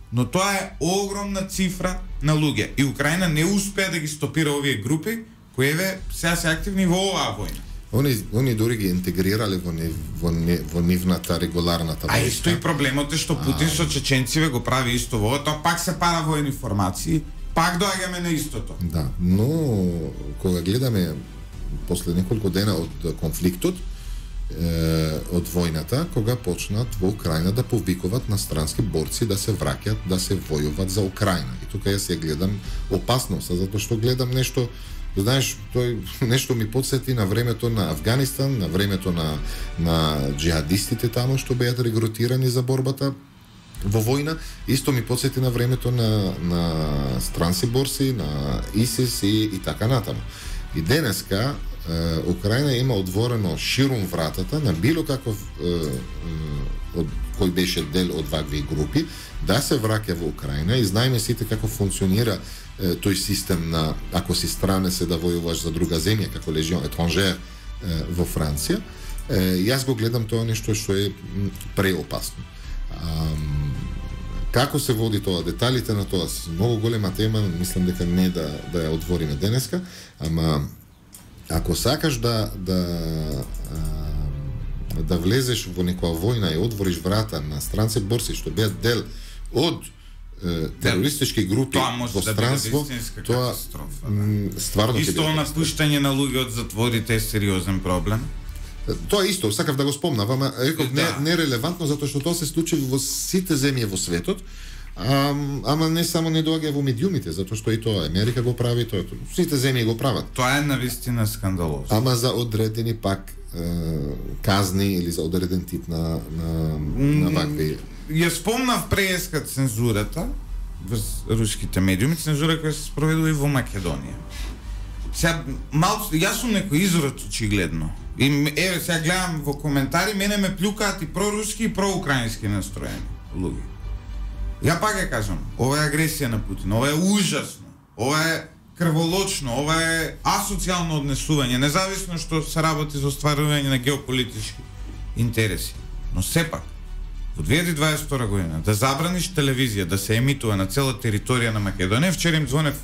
но тоа е огромна цифра на луѓе. И Украина не успеа да ги стопира овие групи, кои еве сега се активни во оваа војна. Они они дури ги интегрирале во не, во, не, во нивната регуларната војна. А исто и проблемот е што Путин а... со чеченциве го прави исто во тоа, пак се паравоени формации, пак доаѓаме на истото. Да, но кога гледаме после неколку дена од конфликтот, од војната, кога почнат во Украина да повикуваат на странски борци да се враќаат, да се војуваат за Украина. И тука јас ја гледам опасност, затоа што гледам нешто, знаеш, тој нешто ми потсети на времето на Афганистан, на времето на на джихадистите таму што беа регрутирани за борбата во војна, исто ми потсети на времето на на странски борци, на ИСИС и, и така натаму. И денеска Украина има отворено ширум вратата на било каков е, е, од кој беше дел од вакви групи да се враќа во Украина и знаеме сите како функционира е, тој систем на ако си странец да војуваш за друга земја како лежион етранжер во Франција. Е, јас го гледам тоа нешто што е преопасно. А, како се води тоа, деталите на тоа се многу голема тема, мислам дека не да да ја отвориме денеска, ама ако сакаш да да а, да влезеш во некоја војна и отвориш врата на странци борци што беа дел од е, терористички групи во странство, тоа стварно исто напуштање на луѓе од затворите е сериозен проблем. Тоа исто, сакав да го спомнам, ама реков не да. нерелевантно затоа што тоа се случи во сите земји во светот. А, ама не само не доаѓа во медиумите, затоа што и тоа Америка го прави, тоа сите земји го прават. Тоа е навистина скандалозно. Ама за одредени пак казни или за одреден тип на на на вакви. Ја спомнав преска цензурата во руските медиуми, цензура која се спроведува и во Македонија. Сега малку јас сум некој изрод очигледно. И еве сега гледам во коментари, мене ме плюкаат и проруски и проукраински настроени луѓе. Ја пак ја кажам, ова е агресија на Путин, ова е ужасно, ова е крволочно, ова е асоцијално однесување, независно што се работи за остварување на геополитички интереси. Но сепак, во две илјади дваесет и втора година, да забраниш телевизија да се емитува на цела територија на Македонија, вчера им звонев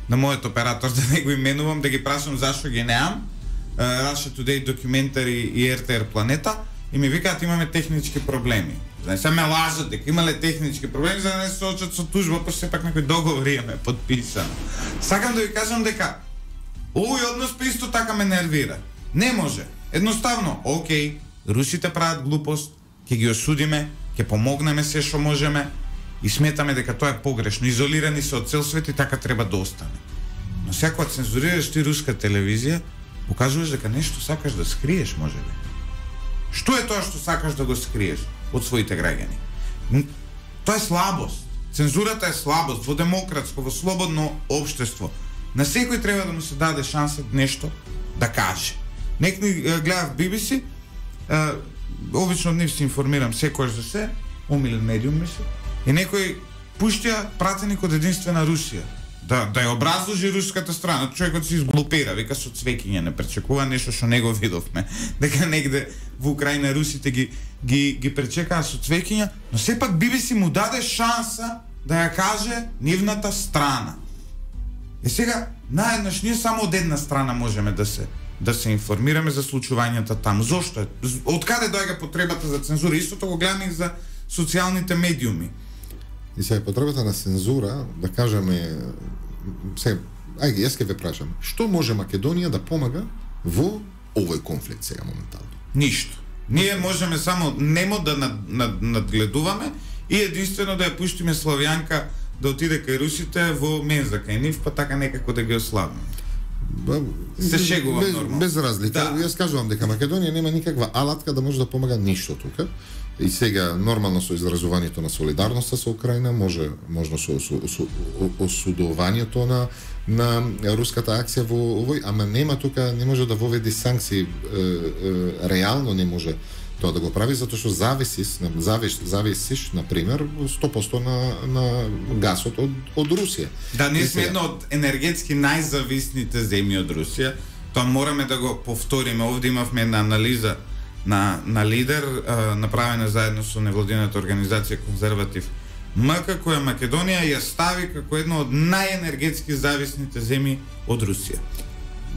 на мојот оператор, да не го именувам, да ги прашам зашто ги неам, Russia Today документари и ер те ер Планета, и ми викаат имаме технички проблеми. Знаеш, се ме лажат дека имале технички проблеми за да не се соочат со тужба, па сепак некој договор имаме подписан. Сакам да ви кажам дека овој однос па исто така ме нервира. Не може. Едноставно, окей, русите прават глупост, ќе ги осудиме, ќе помогнеме се што можеме и сметаме дека тоа е погрешно. Изолирани се од цел свет и така треба да остане. Но сега кога цензурираш ти руска телевизија, покажуваш дека нешто сакаш да скриеш, можеби. Што е тоа што сакаш да го скриеш од своите граѓани? Тоа е слабост. Цензурата е слабост во демократско, во слободно општество. На секој треба да му се даде шанса нешто да каже. Некој гледав би би си, обично од нив се информирам секојаш за се, омилен медиум ми се, и некој пуштија пратеник од единствена Русија. Да, да ја образложи руската страна. Човекот се изглупира, вика со цвеќиња, не пречекува нешто што не го видовме. Дека негде во Украина русите ги ги ги пречекаа со цвеќиња, но сепак би би си му даде шанса да ја каже нивната страна. И сега наеднаш ние само од една страна можеме да се да се информираме за случувањата таму. Зошто е? Од каде доаѓа потребата за цензура? Истото го гледаме и за социјалните медиуми. И сега потребата на цензура, да кажеме, сега, ајде, јас ќе ве прашам, што може Македонија да помага во овој конфликт сега моментално? Ништо. Ние можеме само немо да над, над, надгледуваме и единствено да ја пуштиме Славјанка да отиде кај русите во менза кај нив, па така некако да ги ослабиме. Се шегувам без, нормално. Без разлика. Да. Јас кажувам дека Македонија нема никаква алатка да може да помага ништо тука. И сега нормално со изразувањето на солидарноста со Украина, може можно со, со, со осудувањето на на руската акција во овој, ама нема тука, не може да воведи санкции, е, е, реално не може тоа да го прави, затоа што зависиш, завиш, зависиш на пример сто проценти на на гасот од од Русија. Да, ние сме една од енергетски најзависните земји од Русија. Тоа мораме да го повториме. Овде имавме една анализа на на лидер, а, направена заедно со невладината организација Конзерватив ем ка, која Македонија ја стави како една од најенергетски зависните земји од Русија.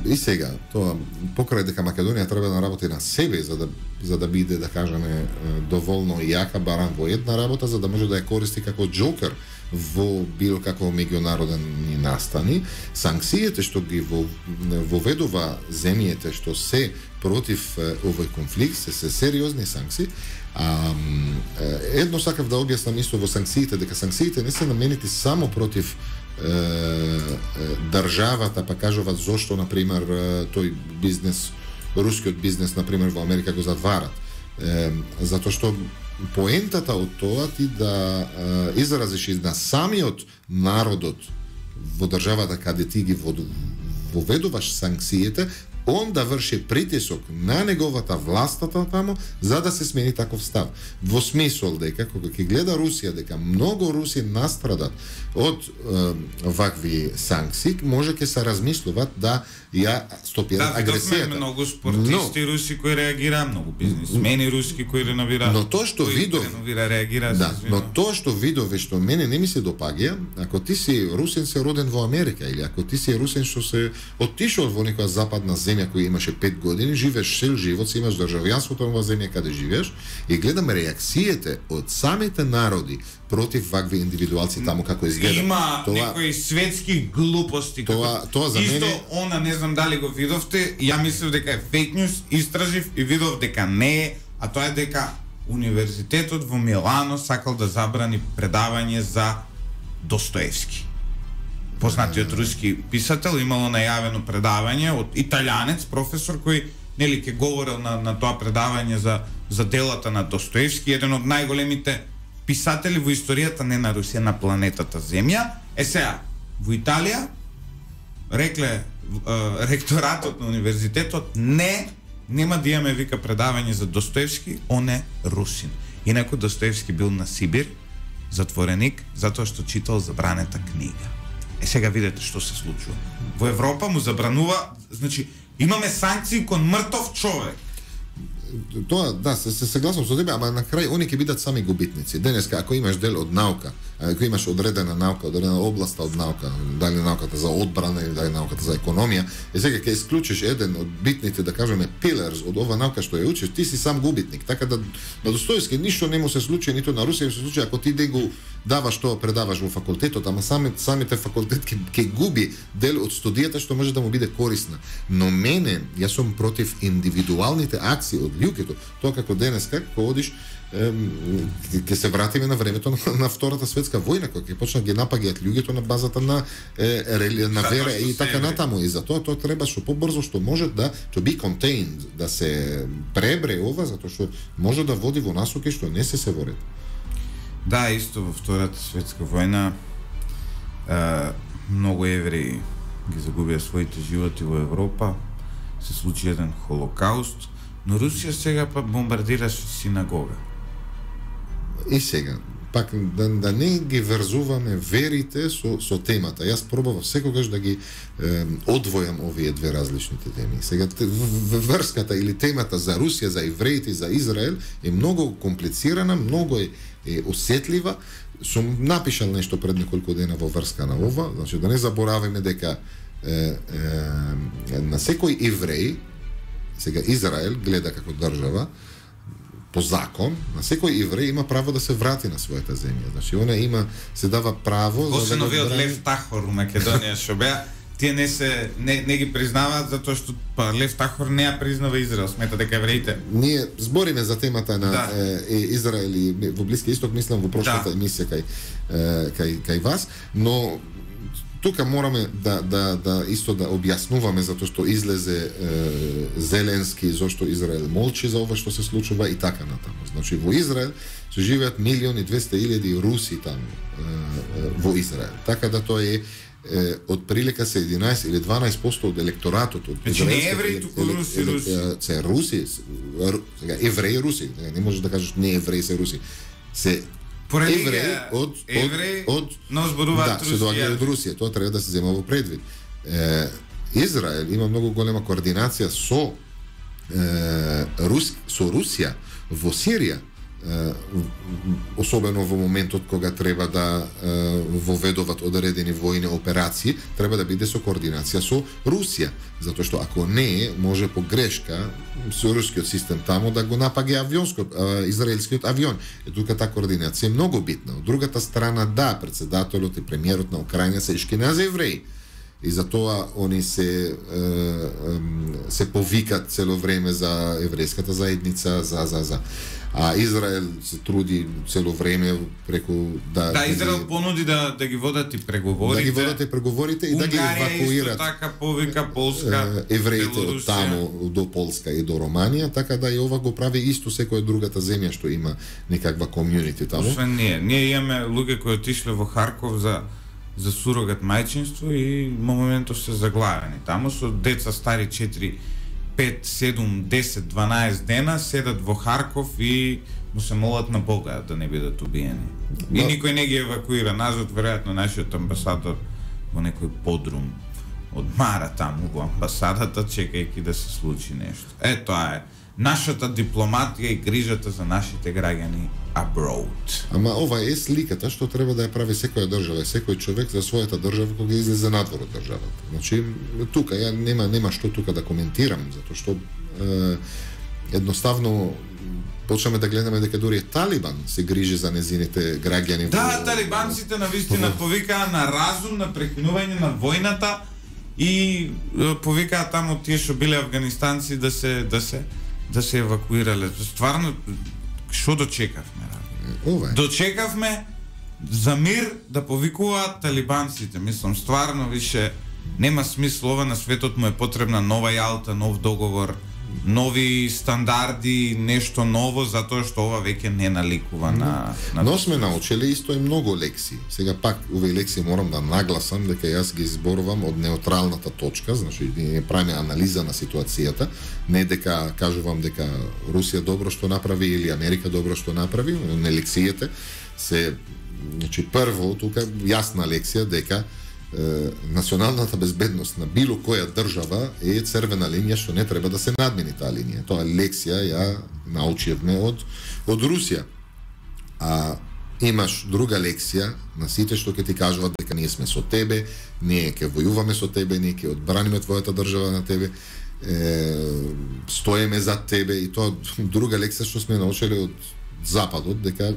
И сега, тоа покрај дека Македонија треба да работи на себе за да за да биде, да кажеме, доволно јака баран во една работа, за да може да ја користи како џокер во било како меѓународни настани, санкциите што ги воведува земјите што се против овој конфликт, се, се сериозни санкции. А, едно сакав да објаснам исто во санкциите, дека санкциите не се наменети само против е, е, државата, па кажуваат зошто, например, тој бизнес, рускиот бизнес, например, во Америка го затварат. Е, затоа што поентата од тоа ти да е, изразиш и на самиот народот во државата каде ти ги воведуваш санкциите, он да врши притисок на неговата властата таму за да се смени таков став. Во смисол дека кога ќе гледа Русија дека многу руси настрадат од е, вакви санкции, може ќе се размислуваат да ја стопираат да, агресијата. Да, многу спортисти но, руси кои реагира, многу бизнисмени руски кои реновира. Но тоа што видов, реагира, да, но тоа што видове што мене не ми се допаѓа, ако ти си русин се роден во Америка или ако ти си русин што се оттишол во некоја западна земја која имаше пет години, живееш цел живот, си имаш државјанството во земја каде живееш и гледам реакциите од самите народи против вакви индивидуалци таму како изгледа. Има тоа, некои светски глупости. Тоа, како, тоа за исто, мене... она не знам дали го видовте, ја мислев дека е фейк нюс, истражив и видов дека не е, а тоа е дека универзитетот во Милано сакал да забрани предавање за Достоевски. Познатиот руски писател, имало најавено предавање од италијанец професор кој нели ќе говорел на на тоа предавање за за делата на Достоевски, еден од најголемите писатели во историјата не на Русија, на планетата Земја. Е сега, во Италија рекле е, ректоратот на универзитетот не, нема да имаме вика предавање за Достоевски, он е русин. Инаку Достоевски бил на Сибир, затвореник, затоа што читал забранета книга. Е сега видете што се случува. Во Европа му забранува, значи имаме санкции кон мртов човек. Тоа, да, се, се согласувам со тебе, ама на крај они ќе бидат сами губитници. Денеска, ако имаш дел од наука, ако имаш одредена наука, одредена област од наука, дали науката за одбрана или дали науката за економија, и сега ќе исклучиш еден од битните, да кажеме, pillars од ова наука што ја учиш, ти си сам губитник. Така да на Достоевски ништо не му се случи, ниту на Русија се случи ако ти да го даваш тоа предаваш во факултетот, ама сами, самите факултет ќе, ќе губи дел од студијата што може да му биде корисна. Но мене, јас сум против индивидуалните акции од луѓето. Тоа како денес, како одиш, ќе се вратиме на времето на, на Втората светска војна, кога ќе почнат ги напаѓаат луѓето на базата на е, на вера и така натаму. И затоа тоа треба што побрзо што може да to be contained, да се пребре ова, затоа што може да води во насоки што не се се во ред. Да, исто во Втората светска војна е, многу евреи ги загубија своите животи во Европа, се случи еден холокауст, но Русија сега па бомбардираше синагога. И сега, пак да, да не ги врзуваме верите со, со темата. Јас пробав секогаш да ги е, одвојам овие две различните теми. Сега врската или темата за Русија, за евреите и за Израел е многу комплицирана, многу е, е осетлива. Сум напишал нешто пред неколку дена во врска на ова, значи да не забораваме дека е, е, на секој евреј, сега Израел гледа како држава, по закон, на секој евреј има право да се врати на својата земја. Значи, она има, се дава право... Освен овие од Лев Тахор у Македонија што беа, тие не се не, не ги признаваат затоа што па Лев Тахор не ја признава Израел, смета дека евреите. Ние збориме за темата на да. е, Израел и во Блиски Исток, мислам во прошлата да. емисија кај, е, кај кај вас, но тука мораме да, да, да исто да објаснуваме затоа што излезе е, Зеленски зошто Израел молчи за ова што се случува и така натаму. Значи во Израел се живеат милиони и двесте илјади руси таму е, во Израел. Така да тоа е е, од прилика се единаесет или дванаесет проценти од електоратот од Значи не евреи, туку руси, руси. Се руси, сега евреи руси, не можеш да кажеш не евреи се руси. Се евреи од евреи од но зборуваат да, се доаѓаат од Русија, тоа треба да се зема во предвид. Е, Израел има многу голема координација со е, Рус, со Русија во Сирија, е, особено во моментот кога треба да е, воведуваат одредени војни операции, треба да биде со координација со Русија, затоа што ако не, може по грешка со рускиот систем таму да го напаѓа авионскиот, е, израелскиот авион. И тука таа координација е многу битна. Од другата страна, да, председателот и премиерот на Украина се ишкинеа евреи. И затоа они се се повикат цело време за еврејската заедница, за за за а Израел се труди цело време преку да Да, Израел да, понуди да да ги водат и преговорите. Да ги водат и преговорите и да ги евакуират. Така повика Полска, евреите од таму до Полска и до Романија, така да и ова го прави исто секоја другата земја што има некаква комјунити таму. Освен ние, ние имаме луѓе кои отишле во Харков за за сурогат мајчинство и во моментов се заглавени. Таму со деца стари четири, пет, седум, десет, дванаесет дена седат во Харков и му се молат на Бога да не бидат убиени. И no. никој не ги евакуира назад, веројатно нашиот амбасадор во некој подрум одмара таму во амбасадата чекајќи да се случи нешто. Е, тоа е нашата дипломатија и грижата за нашите граѓани abroad. Ама ова е сликата што треба да ја прави секоја држава, секој човек за својата држава кога излезе надвор од државата. Значи тука ја нема нема што тука да коментирам, затоа што е, едноставно почнеме да гледаме дека дури Талибан се грижи за незините граѓани. Да, во... талибанците навистина повикаа на разум, на прекинување на војната и повикаа таму тие што биле афганистанци да се да се да се евакуирале. Стварно Што дочекавме? Ова е. Дочекавме за мир да повикуваат талибанците. Мислам, стварно више нема смисла, ова на светот му е потребна нова јалта, нов договор, нови стандарди, нешто ново, затоа што ова веќе не наликува на... на Но сме научили исто и многу лекции. Сега пак, овие лекции морам да нагласам дека јас ги изборувам од неутралната точка, значи не правиме анализа на ситуацијата, не дека кажувам дека Русија добро што направи или Америка добро што направи, не лекциите се, значи прво тука јасна лекција дека националната безбедност на било која држава е црвена линија што не треба да се надмини таа линија. Тоа лекција ја научивме од од Русија. А имаш друга лекција на сите што ќе ти кажуваат дека ние сме со тебе, ние ќе војуваме со тебе, ние ќе одбраниме твојата држава на тебе, е, стоеме за тебе, и тоа друга лекција што сме научили од Западот, дека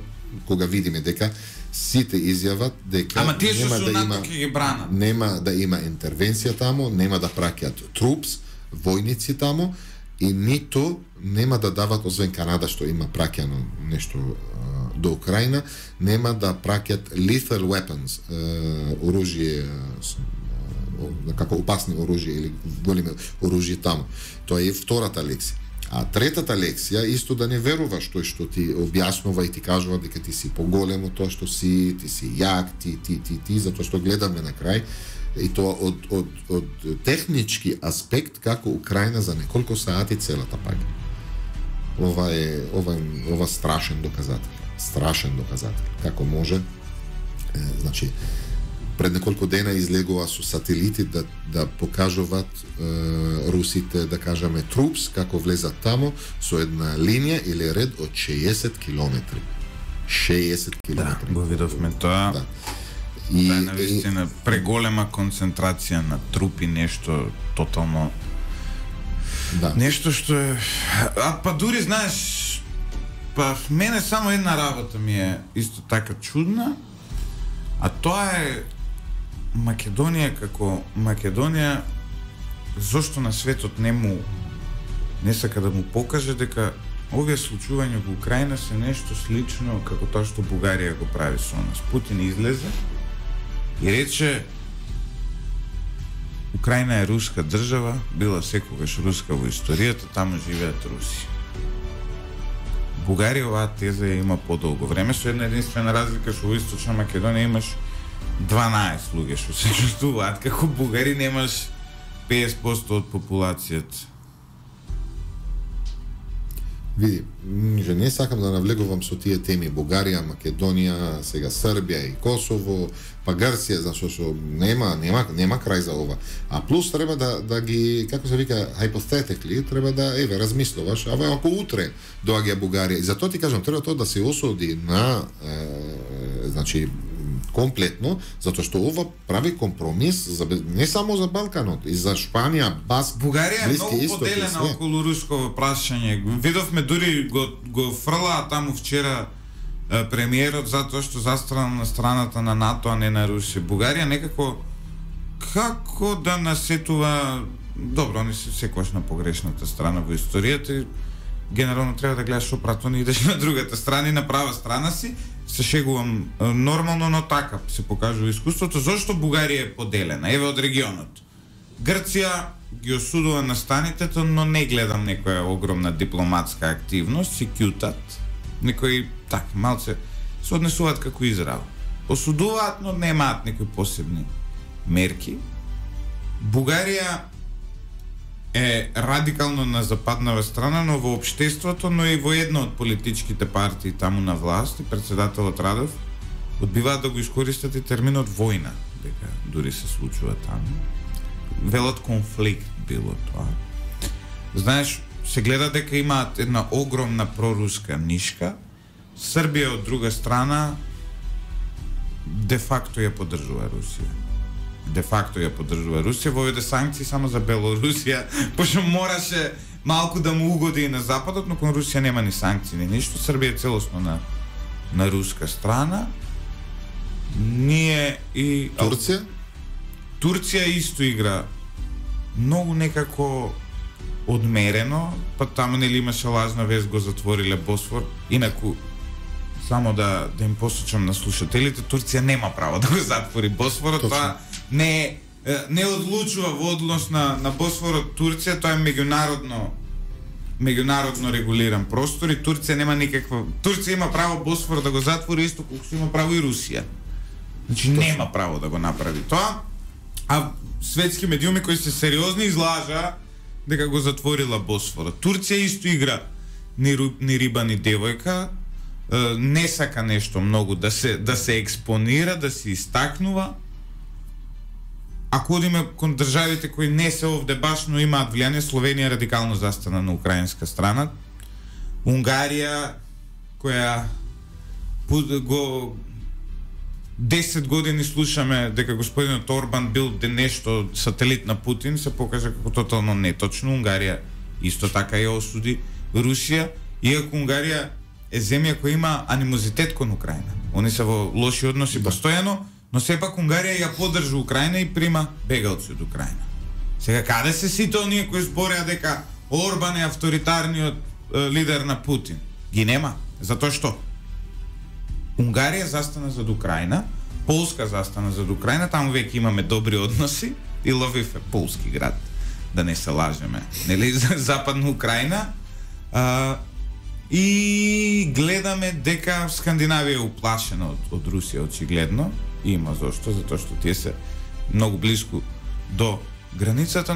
кога видиме дека сите изјават дека Ама тие нема што да НАТО има ќе ги бранат. нема да има интервенција таму, нема да праќаат трупс, војници таму, и ниту нема да дават, освен Канада што има праќано нешто а, до Украина, нема да праќаат lethal weapons, а, оружје, а, како опасни оружје или големи оружје таму. Тоа е втората лекција. А третата лекција исто да не веруваш тој што ти објаснува и ти кажува дека ти си поголем од тоа што си, ти си јак, ти, ти, ти, ти, затоа што гледаме на крај, и тоа од, од, од технички аспект како Украина за неколку сати целата паѓа. Ова е ова, ова страшен доказател. Страшен доказател. Како може, е, значи, пред неколку дена излегува со сателити да, да покажуваат е, русите, да кажеме, трупс, како влезат тамо, со една линија или ред од шеесет километри. шеесет километри. Да, го видовме тоа. Да. И, да, навистина, преголема концентрација на трупи, нешто тотално... Да. Нешто што е... А па дури, знаеш, па мене само една работа ми е исто така чудна, а тоа е Македонија како Македонија, зошто на светот не му не сака да му покаже дека овие случувања во Украина се нешто слично како тоа што Бугарија го прави со нас. Путин излезе и рече Украина е руска држава, била секогаш руска во историјата, таму живеат руси. Бугарија оваа теза ја има подолго време, со една единствена разлика што во Источна Македонија имаш дванаесет луѓе што се чувствуваат како бугари, немаш песет проценти од популацијата. Види, že не сакам да навлегувам со тие теми Бугарија, Македонија, сега Србија и Косово, па Грција, зашто што нема нема нема крај за ова. А плюс треба да да ги, како се вика, hypothetically, треба да еве размислуваш, а ако утре доаѓа Бугарија, и затоа ти кажам, треба тоа да се осуди на е, значи комплетно, затоа што ова прави компромис за, не само за Балканот, и за Шпанија, Баск, Бугарија е многу поделена околу руско прашање. Видовме дури го го фрлаа таму вчера е, премиерот затоа што застрана на страната на НАТО, а не на Русија. Бугарија некако како да насетува, добро, они се секогаш на погрешната страна во историјата, генерално треба да гледаш опратно и идеш на другата страна и на права страна си. Се шегувам нормално, но така се покажува искуството. Зошто Бугарија е поделена? Еве од регионот. Грција ги осудува настанитето, но не гледам некоја огромна дипломатска активност, си кјутат. Некои, так, малце се однесуваат како Израел. Осудуваат, но немаат некои посебни мерки. Бугарија е радикално на западнава страна, но во општеството, но и во една од политичките партии таму на власт, и председателот Радев одбиваат да го искористат и терминот војна, дека дури се случува таму. Велат конфликт било тоа. Знаеш, се гледа дека имаат една огромна проруска нишка, Србија од друга страна де факто ја поддржува Русија. Де факто ја поддржува Русија, воведе санкции само за Белорусија, пошто мораше малку да му угоди и на Западот, но кон Русија нема ни санкции, ни ништо. Србија е целосно на, на руска страна. Ние и... Турција? Турција исто игра многу некако одмерено, па таму нели имаше лажна вест, го затвориле Босфор. Инаку само да да им посочам на слушателите, Турција нема право да го затвори Босфорот, тоа не не одлучува во однос на на Босфорот Турција, тоа е меѓународно меѓународно регулиран простор и Турција нема никаква. Турција има право Босфор да го затвори исто колку има право и Русија. Значи точно нема право да го направи тоа. А светски медиуми кои се сериозни излажа дека го затворила Босфора. Турција исто игра ни, ни риба ни девојка, не сака нешто многу да се да се експонира, да се истакнува. Ако одиме кон државите кои не се овде баш, но имаат влијание, Словенија радикално застана на украинска страна. Унгарија, која го десет години слушаме дека господинот Орбан бил де нешто сателит на Путин, се покажа како тотално неточно. Унгарија исто така ја осуди Русија, иако Унгарија е земја која има анимозитет кон Украина. Они се во лоши односи да постојано, но сепак Унгарија ја поддржа Украина и прима бегалци од Украина. Сега каде се сите оние кои збореа дека Орбан е авторитарниот е, лидер на Путин? Ги нема, затоа што Унгарија застана зад Украина, Полска застана зад Украина, таму веќе имаме добри односи и Лвив е полски град, да не се лажеме, нели, западна Украина. А, и гледаме дека Скандинавија е уплашена од, од Русија очигледно. Има зошто, затоа што тие се многу близко до границата.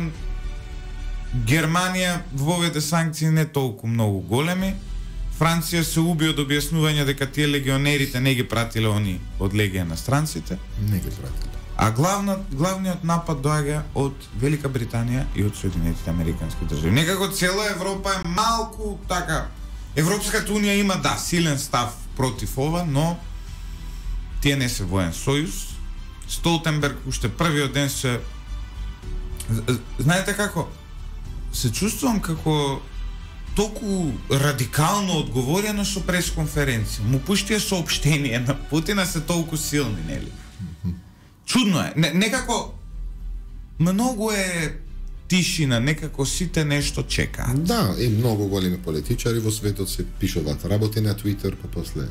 Германија воведе санкции не толку многу големи. Франција се уби од објаснување дека тие легионерите не ги пратиле они од легија на странците. Не ги пратиле. А главна, главниот напад доаѓа од Велика Британија и од Соединетите Американски држави. Некако цела Европа е малку така. Европската унија има да силен став против ова, но тие не се воен сојуз. Столтенберг уште првиот ден се... Знаете како? Се чувствувам како толку радикално одговорено со пресконференција. Му пуштија соопштение на Путина се толку силни, нели? Чудно е. Не, некако многу е тишина, некако сите нешто чекаат. Да, и многу големи политичари во светот се пишуваат работи на Твитер, па после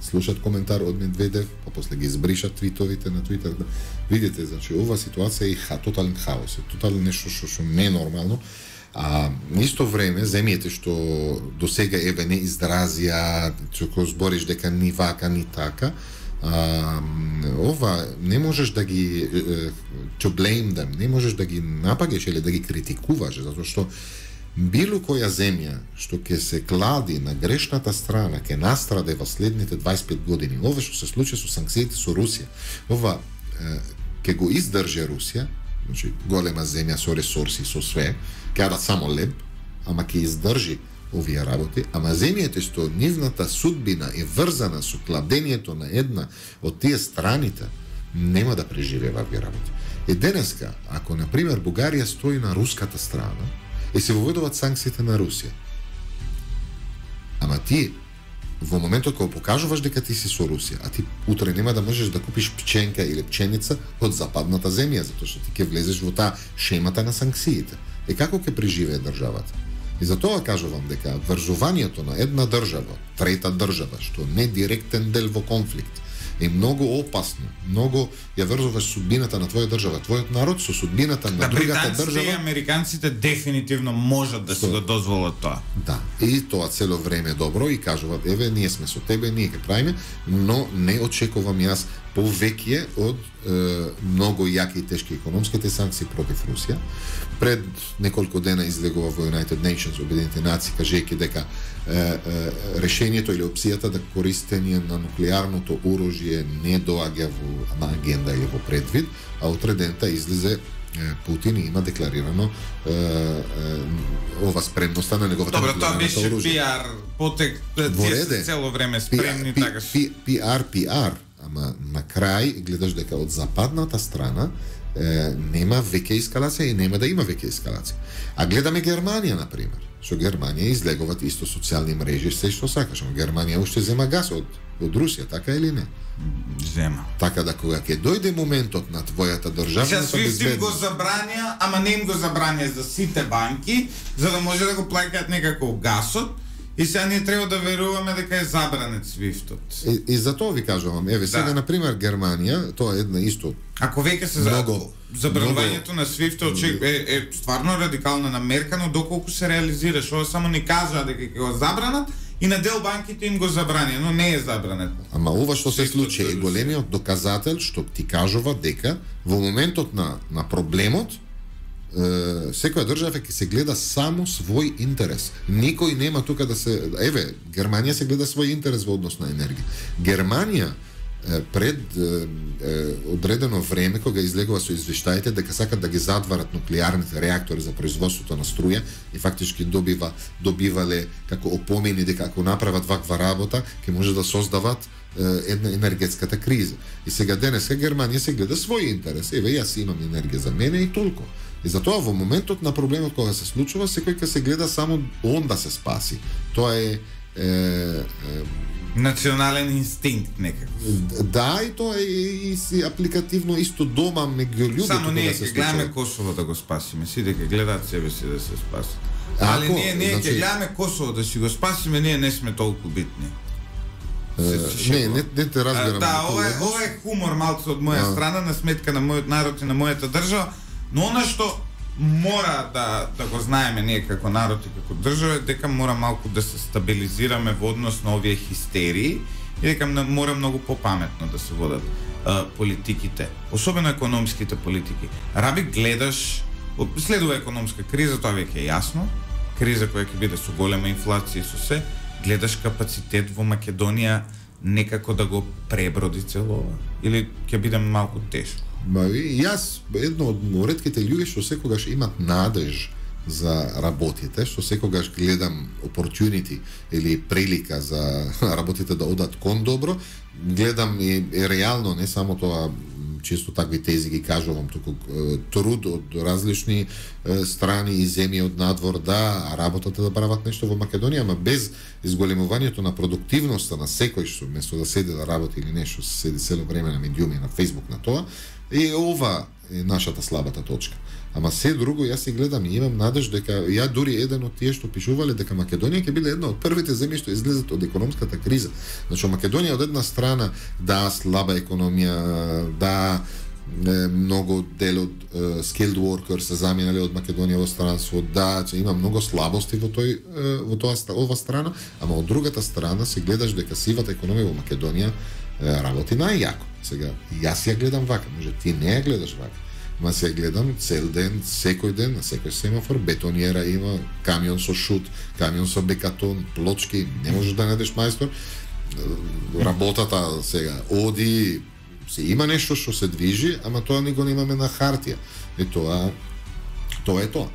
слушат коментар од Медведев, па после ги избришат твитовите на Твитер. Да. Видите, значи, ова ситуација е ха, тотален хаос, е тотално нешто што што не е нормално. А исто време земјите што до сега еве не изразија, што збориш дека ни вака ни така, а, ова не можеш да ги to blame them, не можеш да ги напагаш или да ги критикуваш, затоа што било која земја што ќе се клади на грешната страна ќе настраде во следните дваесет и пет години. Ова што се случи со санкциите со Русија, ова ќе го издржи Русија, значи голема земја со ресурси, со све, ќе да само леб, ама ќе издржи овие работи, ама земјите што нивната судбина е врзана со кладењето на една од тие страните, нема да преживева овие работи. И денеска, ако на пример Бугарија стои на руската страна и се воведуваат санкциите на Русија, ама ти во моментот кога покажуваш дека ти си со Русија, а ти утре нема да можеш да купиш пченка или пченица од западната земја, затоа што ти ќе влезеш во таа шемата на санкциите. И како ќе преживее државата? И затоа кажувам дека врзувањето на една држава, трета држава, што не директен дел во конфликт, е многу опасно. Многу ја врзуваш судбината на твоја држава, твојот народ со судбината на да, другата држава. Да, и американците дефинитивно можат да си го дозволат тоа. Да, и тоа цело време добро и кажуваат, еве, ние сме со тебе, ние ќе правиме, но не очекувам јас повеќе од е, многу јаки и тешки економските санкции против Русија. Пред неколку дена излегува во United Nations, Обединените нации, кажејќи дека е, е, решението или опцијата да користење на нуклеарното оружје не доаѓа во на агенда или во предвид, а утре дента излезе Путин и има декларирано е, е, ова спремноста на неговата нуклеарната оружје. Добро, тоа беше пиар, потек, тие се цело време спремни, така. пиар, пиар, ама на крај гледаш дека од западната страна е, нема веќе ескалација и нема да има веќе ескалација. А гледаме Германија, на пример. Што Германија излегуваат исто социјални мрежи, се што сакаш, но Германија уште зема газ од од Русија, така или не? Зема. Така да кога ќе дојде моментот на твојата државна безбедност, SWIFT им го забраня, ама не им го забраня за сите банки, за да може да го плаќаат некако гасот. И сега ние треба да веруваме дека е забранет SWIFT-от. И, и за тоа ви кажувам, еве сега да. на пример Германија, тоа е една исто. Ако веќе се много забранувањето на SWIFT-от е, е стварно радикална намерка, но доколку се реализираш, ова само ни кажа дека ќе го забранат и на дел банките им го забрани, но не е забранет. Ама ова што се случи е големиот доказател што ти кажува дека во моментот на на проблемот секоја држава ќе се гледа само свој интерес. Никој нема тука да се... Еве, Германија се гледа свој интерес во однос на енергија. Германија пред е, е, одредено време, кога излегува со извештаите дека сакат да ги затварат нуклеарните реактори за производството на струја и фактички добива добивале како опомени дека ако направат ваква работа, ќе може да создават е, една енергетската криза. И сега денеска Германија се гледа свој интерес. Еве, јас имам енергија за мене и толку. И затоа во моментот на проблемот кога се случува, секој ќе се гледа само он да се спаси. Тоа е, е, е национален инстинкт некако. Да, и тоа е и си апликативно исто дома меѓу луѓето. Само ние се ќе гледаме Косово да го спасиме, сите ќе гледаат себе си да се спасат. Али Ако, ние ние ќе значи... гледаме Косово да си го спасиме, ние не сме толку битни. Uh, не, не, не те разбирам. Да, ова е, ова е хумор малку од моја а. страна на сметка на мојот народ и на мојата држава, но она што мора да да го знаеме ние како народ и како држава е дека мора малку да се стабилизираме во однос на овие хистерии и дека мора многу попаметно да се водат а, политиките, особено економските политики. Раби гледаш, следува економска криза, тоа веќе е јасно, криза која ќе биде со голема инфлација и со се, гледаш капацитет во Македонија некако да го преброди целова или ќе биде малку тешко? Ба, јас едно од ретките луѓе што секогаш имат надеж за работите, што секогаш гледам opportunity или прилика за работите да одат кон добро, гледам и, и реално, не само тоа чисто такви тези ги кажувам, туку труд од различни страни и земји од надвор да работата да прават нешто во Македонија, ама без изголемувањето на продуктивноста на секој што место да седи да работи или нешто, седи цело време на медиуми, на Facebook, на тоа, и ова е нашата слабата точка. Ама се друго, јас си гледам и имам надеж дека ја дури еден од тие што пишувале дека Македонија ќе биде една од првите земји што излезат од економската криза. Значи Македонија од една страна да слаба економија, да е, многу дел од е, skilled workers се заминали од Македонија во странство, да че има многу слабости во тој е, во тоа ова страна, ама од другата страна се гледаш дека сивата економија во Македонија е, работи најјако. Сега јас ја гледам вака, може ти не ја гледаш вака. Ма се гледам цел ден, секој ден, на секој семафор, бетонјера има, камион со шут, камион со бекатон, плочки, не можеш да најдеш мајстор. Работата сега оди, се има нешто што се движи, ама тоа ни го немаме на хартија. И тоа, тоа е тоа.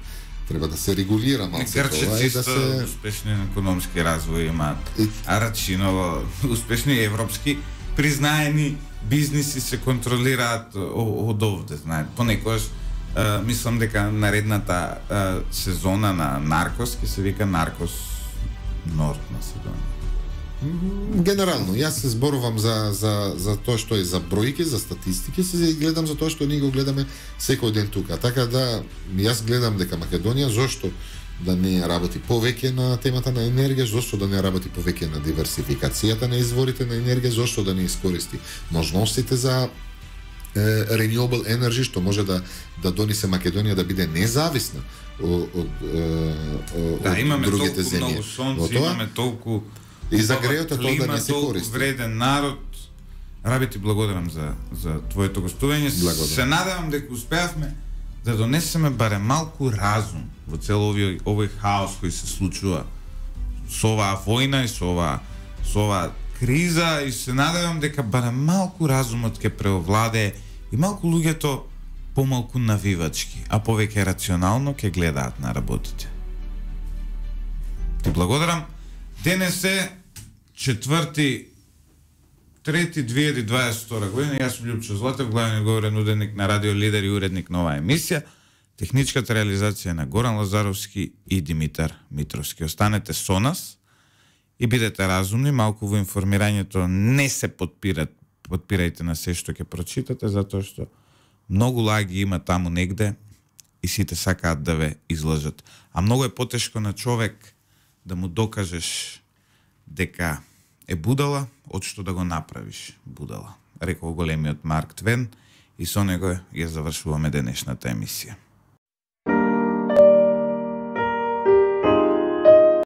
Треба да се регулира малце тоа и да се... успешни економски развој имаат. А Рачиново, успешни европски, признаени бизниси се контролираат од овде, знаете. Понекогаш uh, мислам дека наредната uh, сезона на Наркос ќе се вика Наркос Норд Македонија. Генерално, јас се зборувам за, за, за тоа што е за бројки, за статистики, се гледам за тоа што ние го гледаме секој ден тука. Така да, јас гледам дека Македонија, зошто да не работи повеќе на темата на енергија, зошто да не работи повеќе на диверсификацијата на изворите на енергија, зошто да не искористи можностите за е, renewable energy, што може да да донесе Македонија да биде независна од од, од да, имаме другите толку земји. Многу сонце, имаме толку и за грејот е тоа да не се користи. Вреден народ. Раби, ти благодарам за за твоето гостување. Се надевам дека успеавме да донесеме барем малку разум во цел овој овој хаос кој се случува со оваа војна и со оваа со оваа криза, и се надевам дека барем малку разумот ќе преовладее и малку луѓето помалку навивачки, а повеќе рационално ќе гледаат на работите. Ти благодарам. Денес е четврти трети две илјади дваесет и втора година, јас сум Љупчо Златев, главен говорен уредник на Радио Лидер и уредник на оваа емисија. Техничката реализација на Горан Лазаровски и Димитар Митровски. Останете со нас и бидете разумни, малку во информирањето не се подпират, подпирајте на се што ќе прочитате, затоа што многу лаги има таму негде и сите сакаат да ве излажат. А многу е потешко на човек да му докажеш дека е будала, од што да го направиш будала. Рекол големиот Марк Твен и со него ја завршуваме денешната емисија.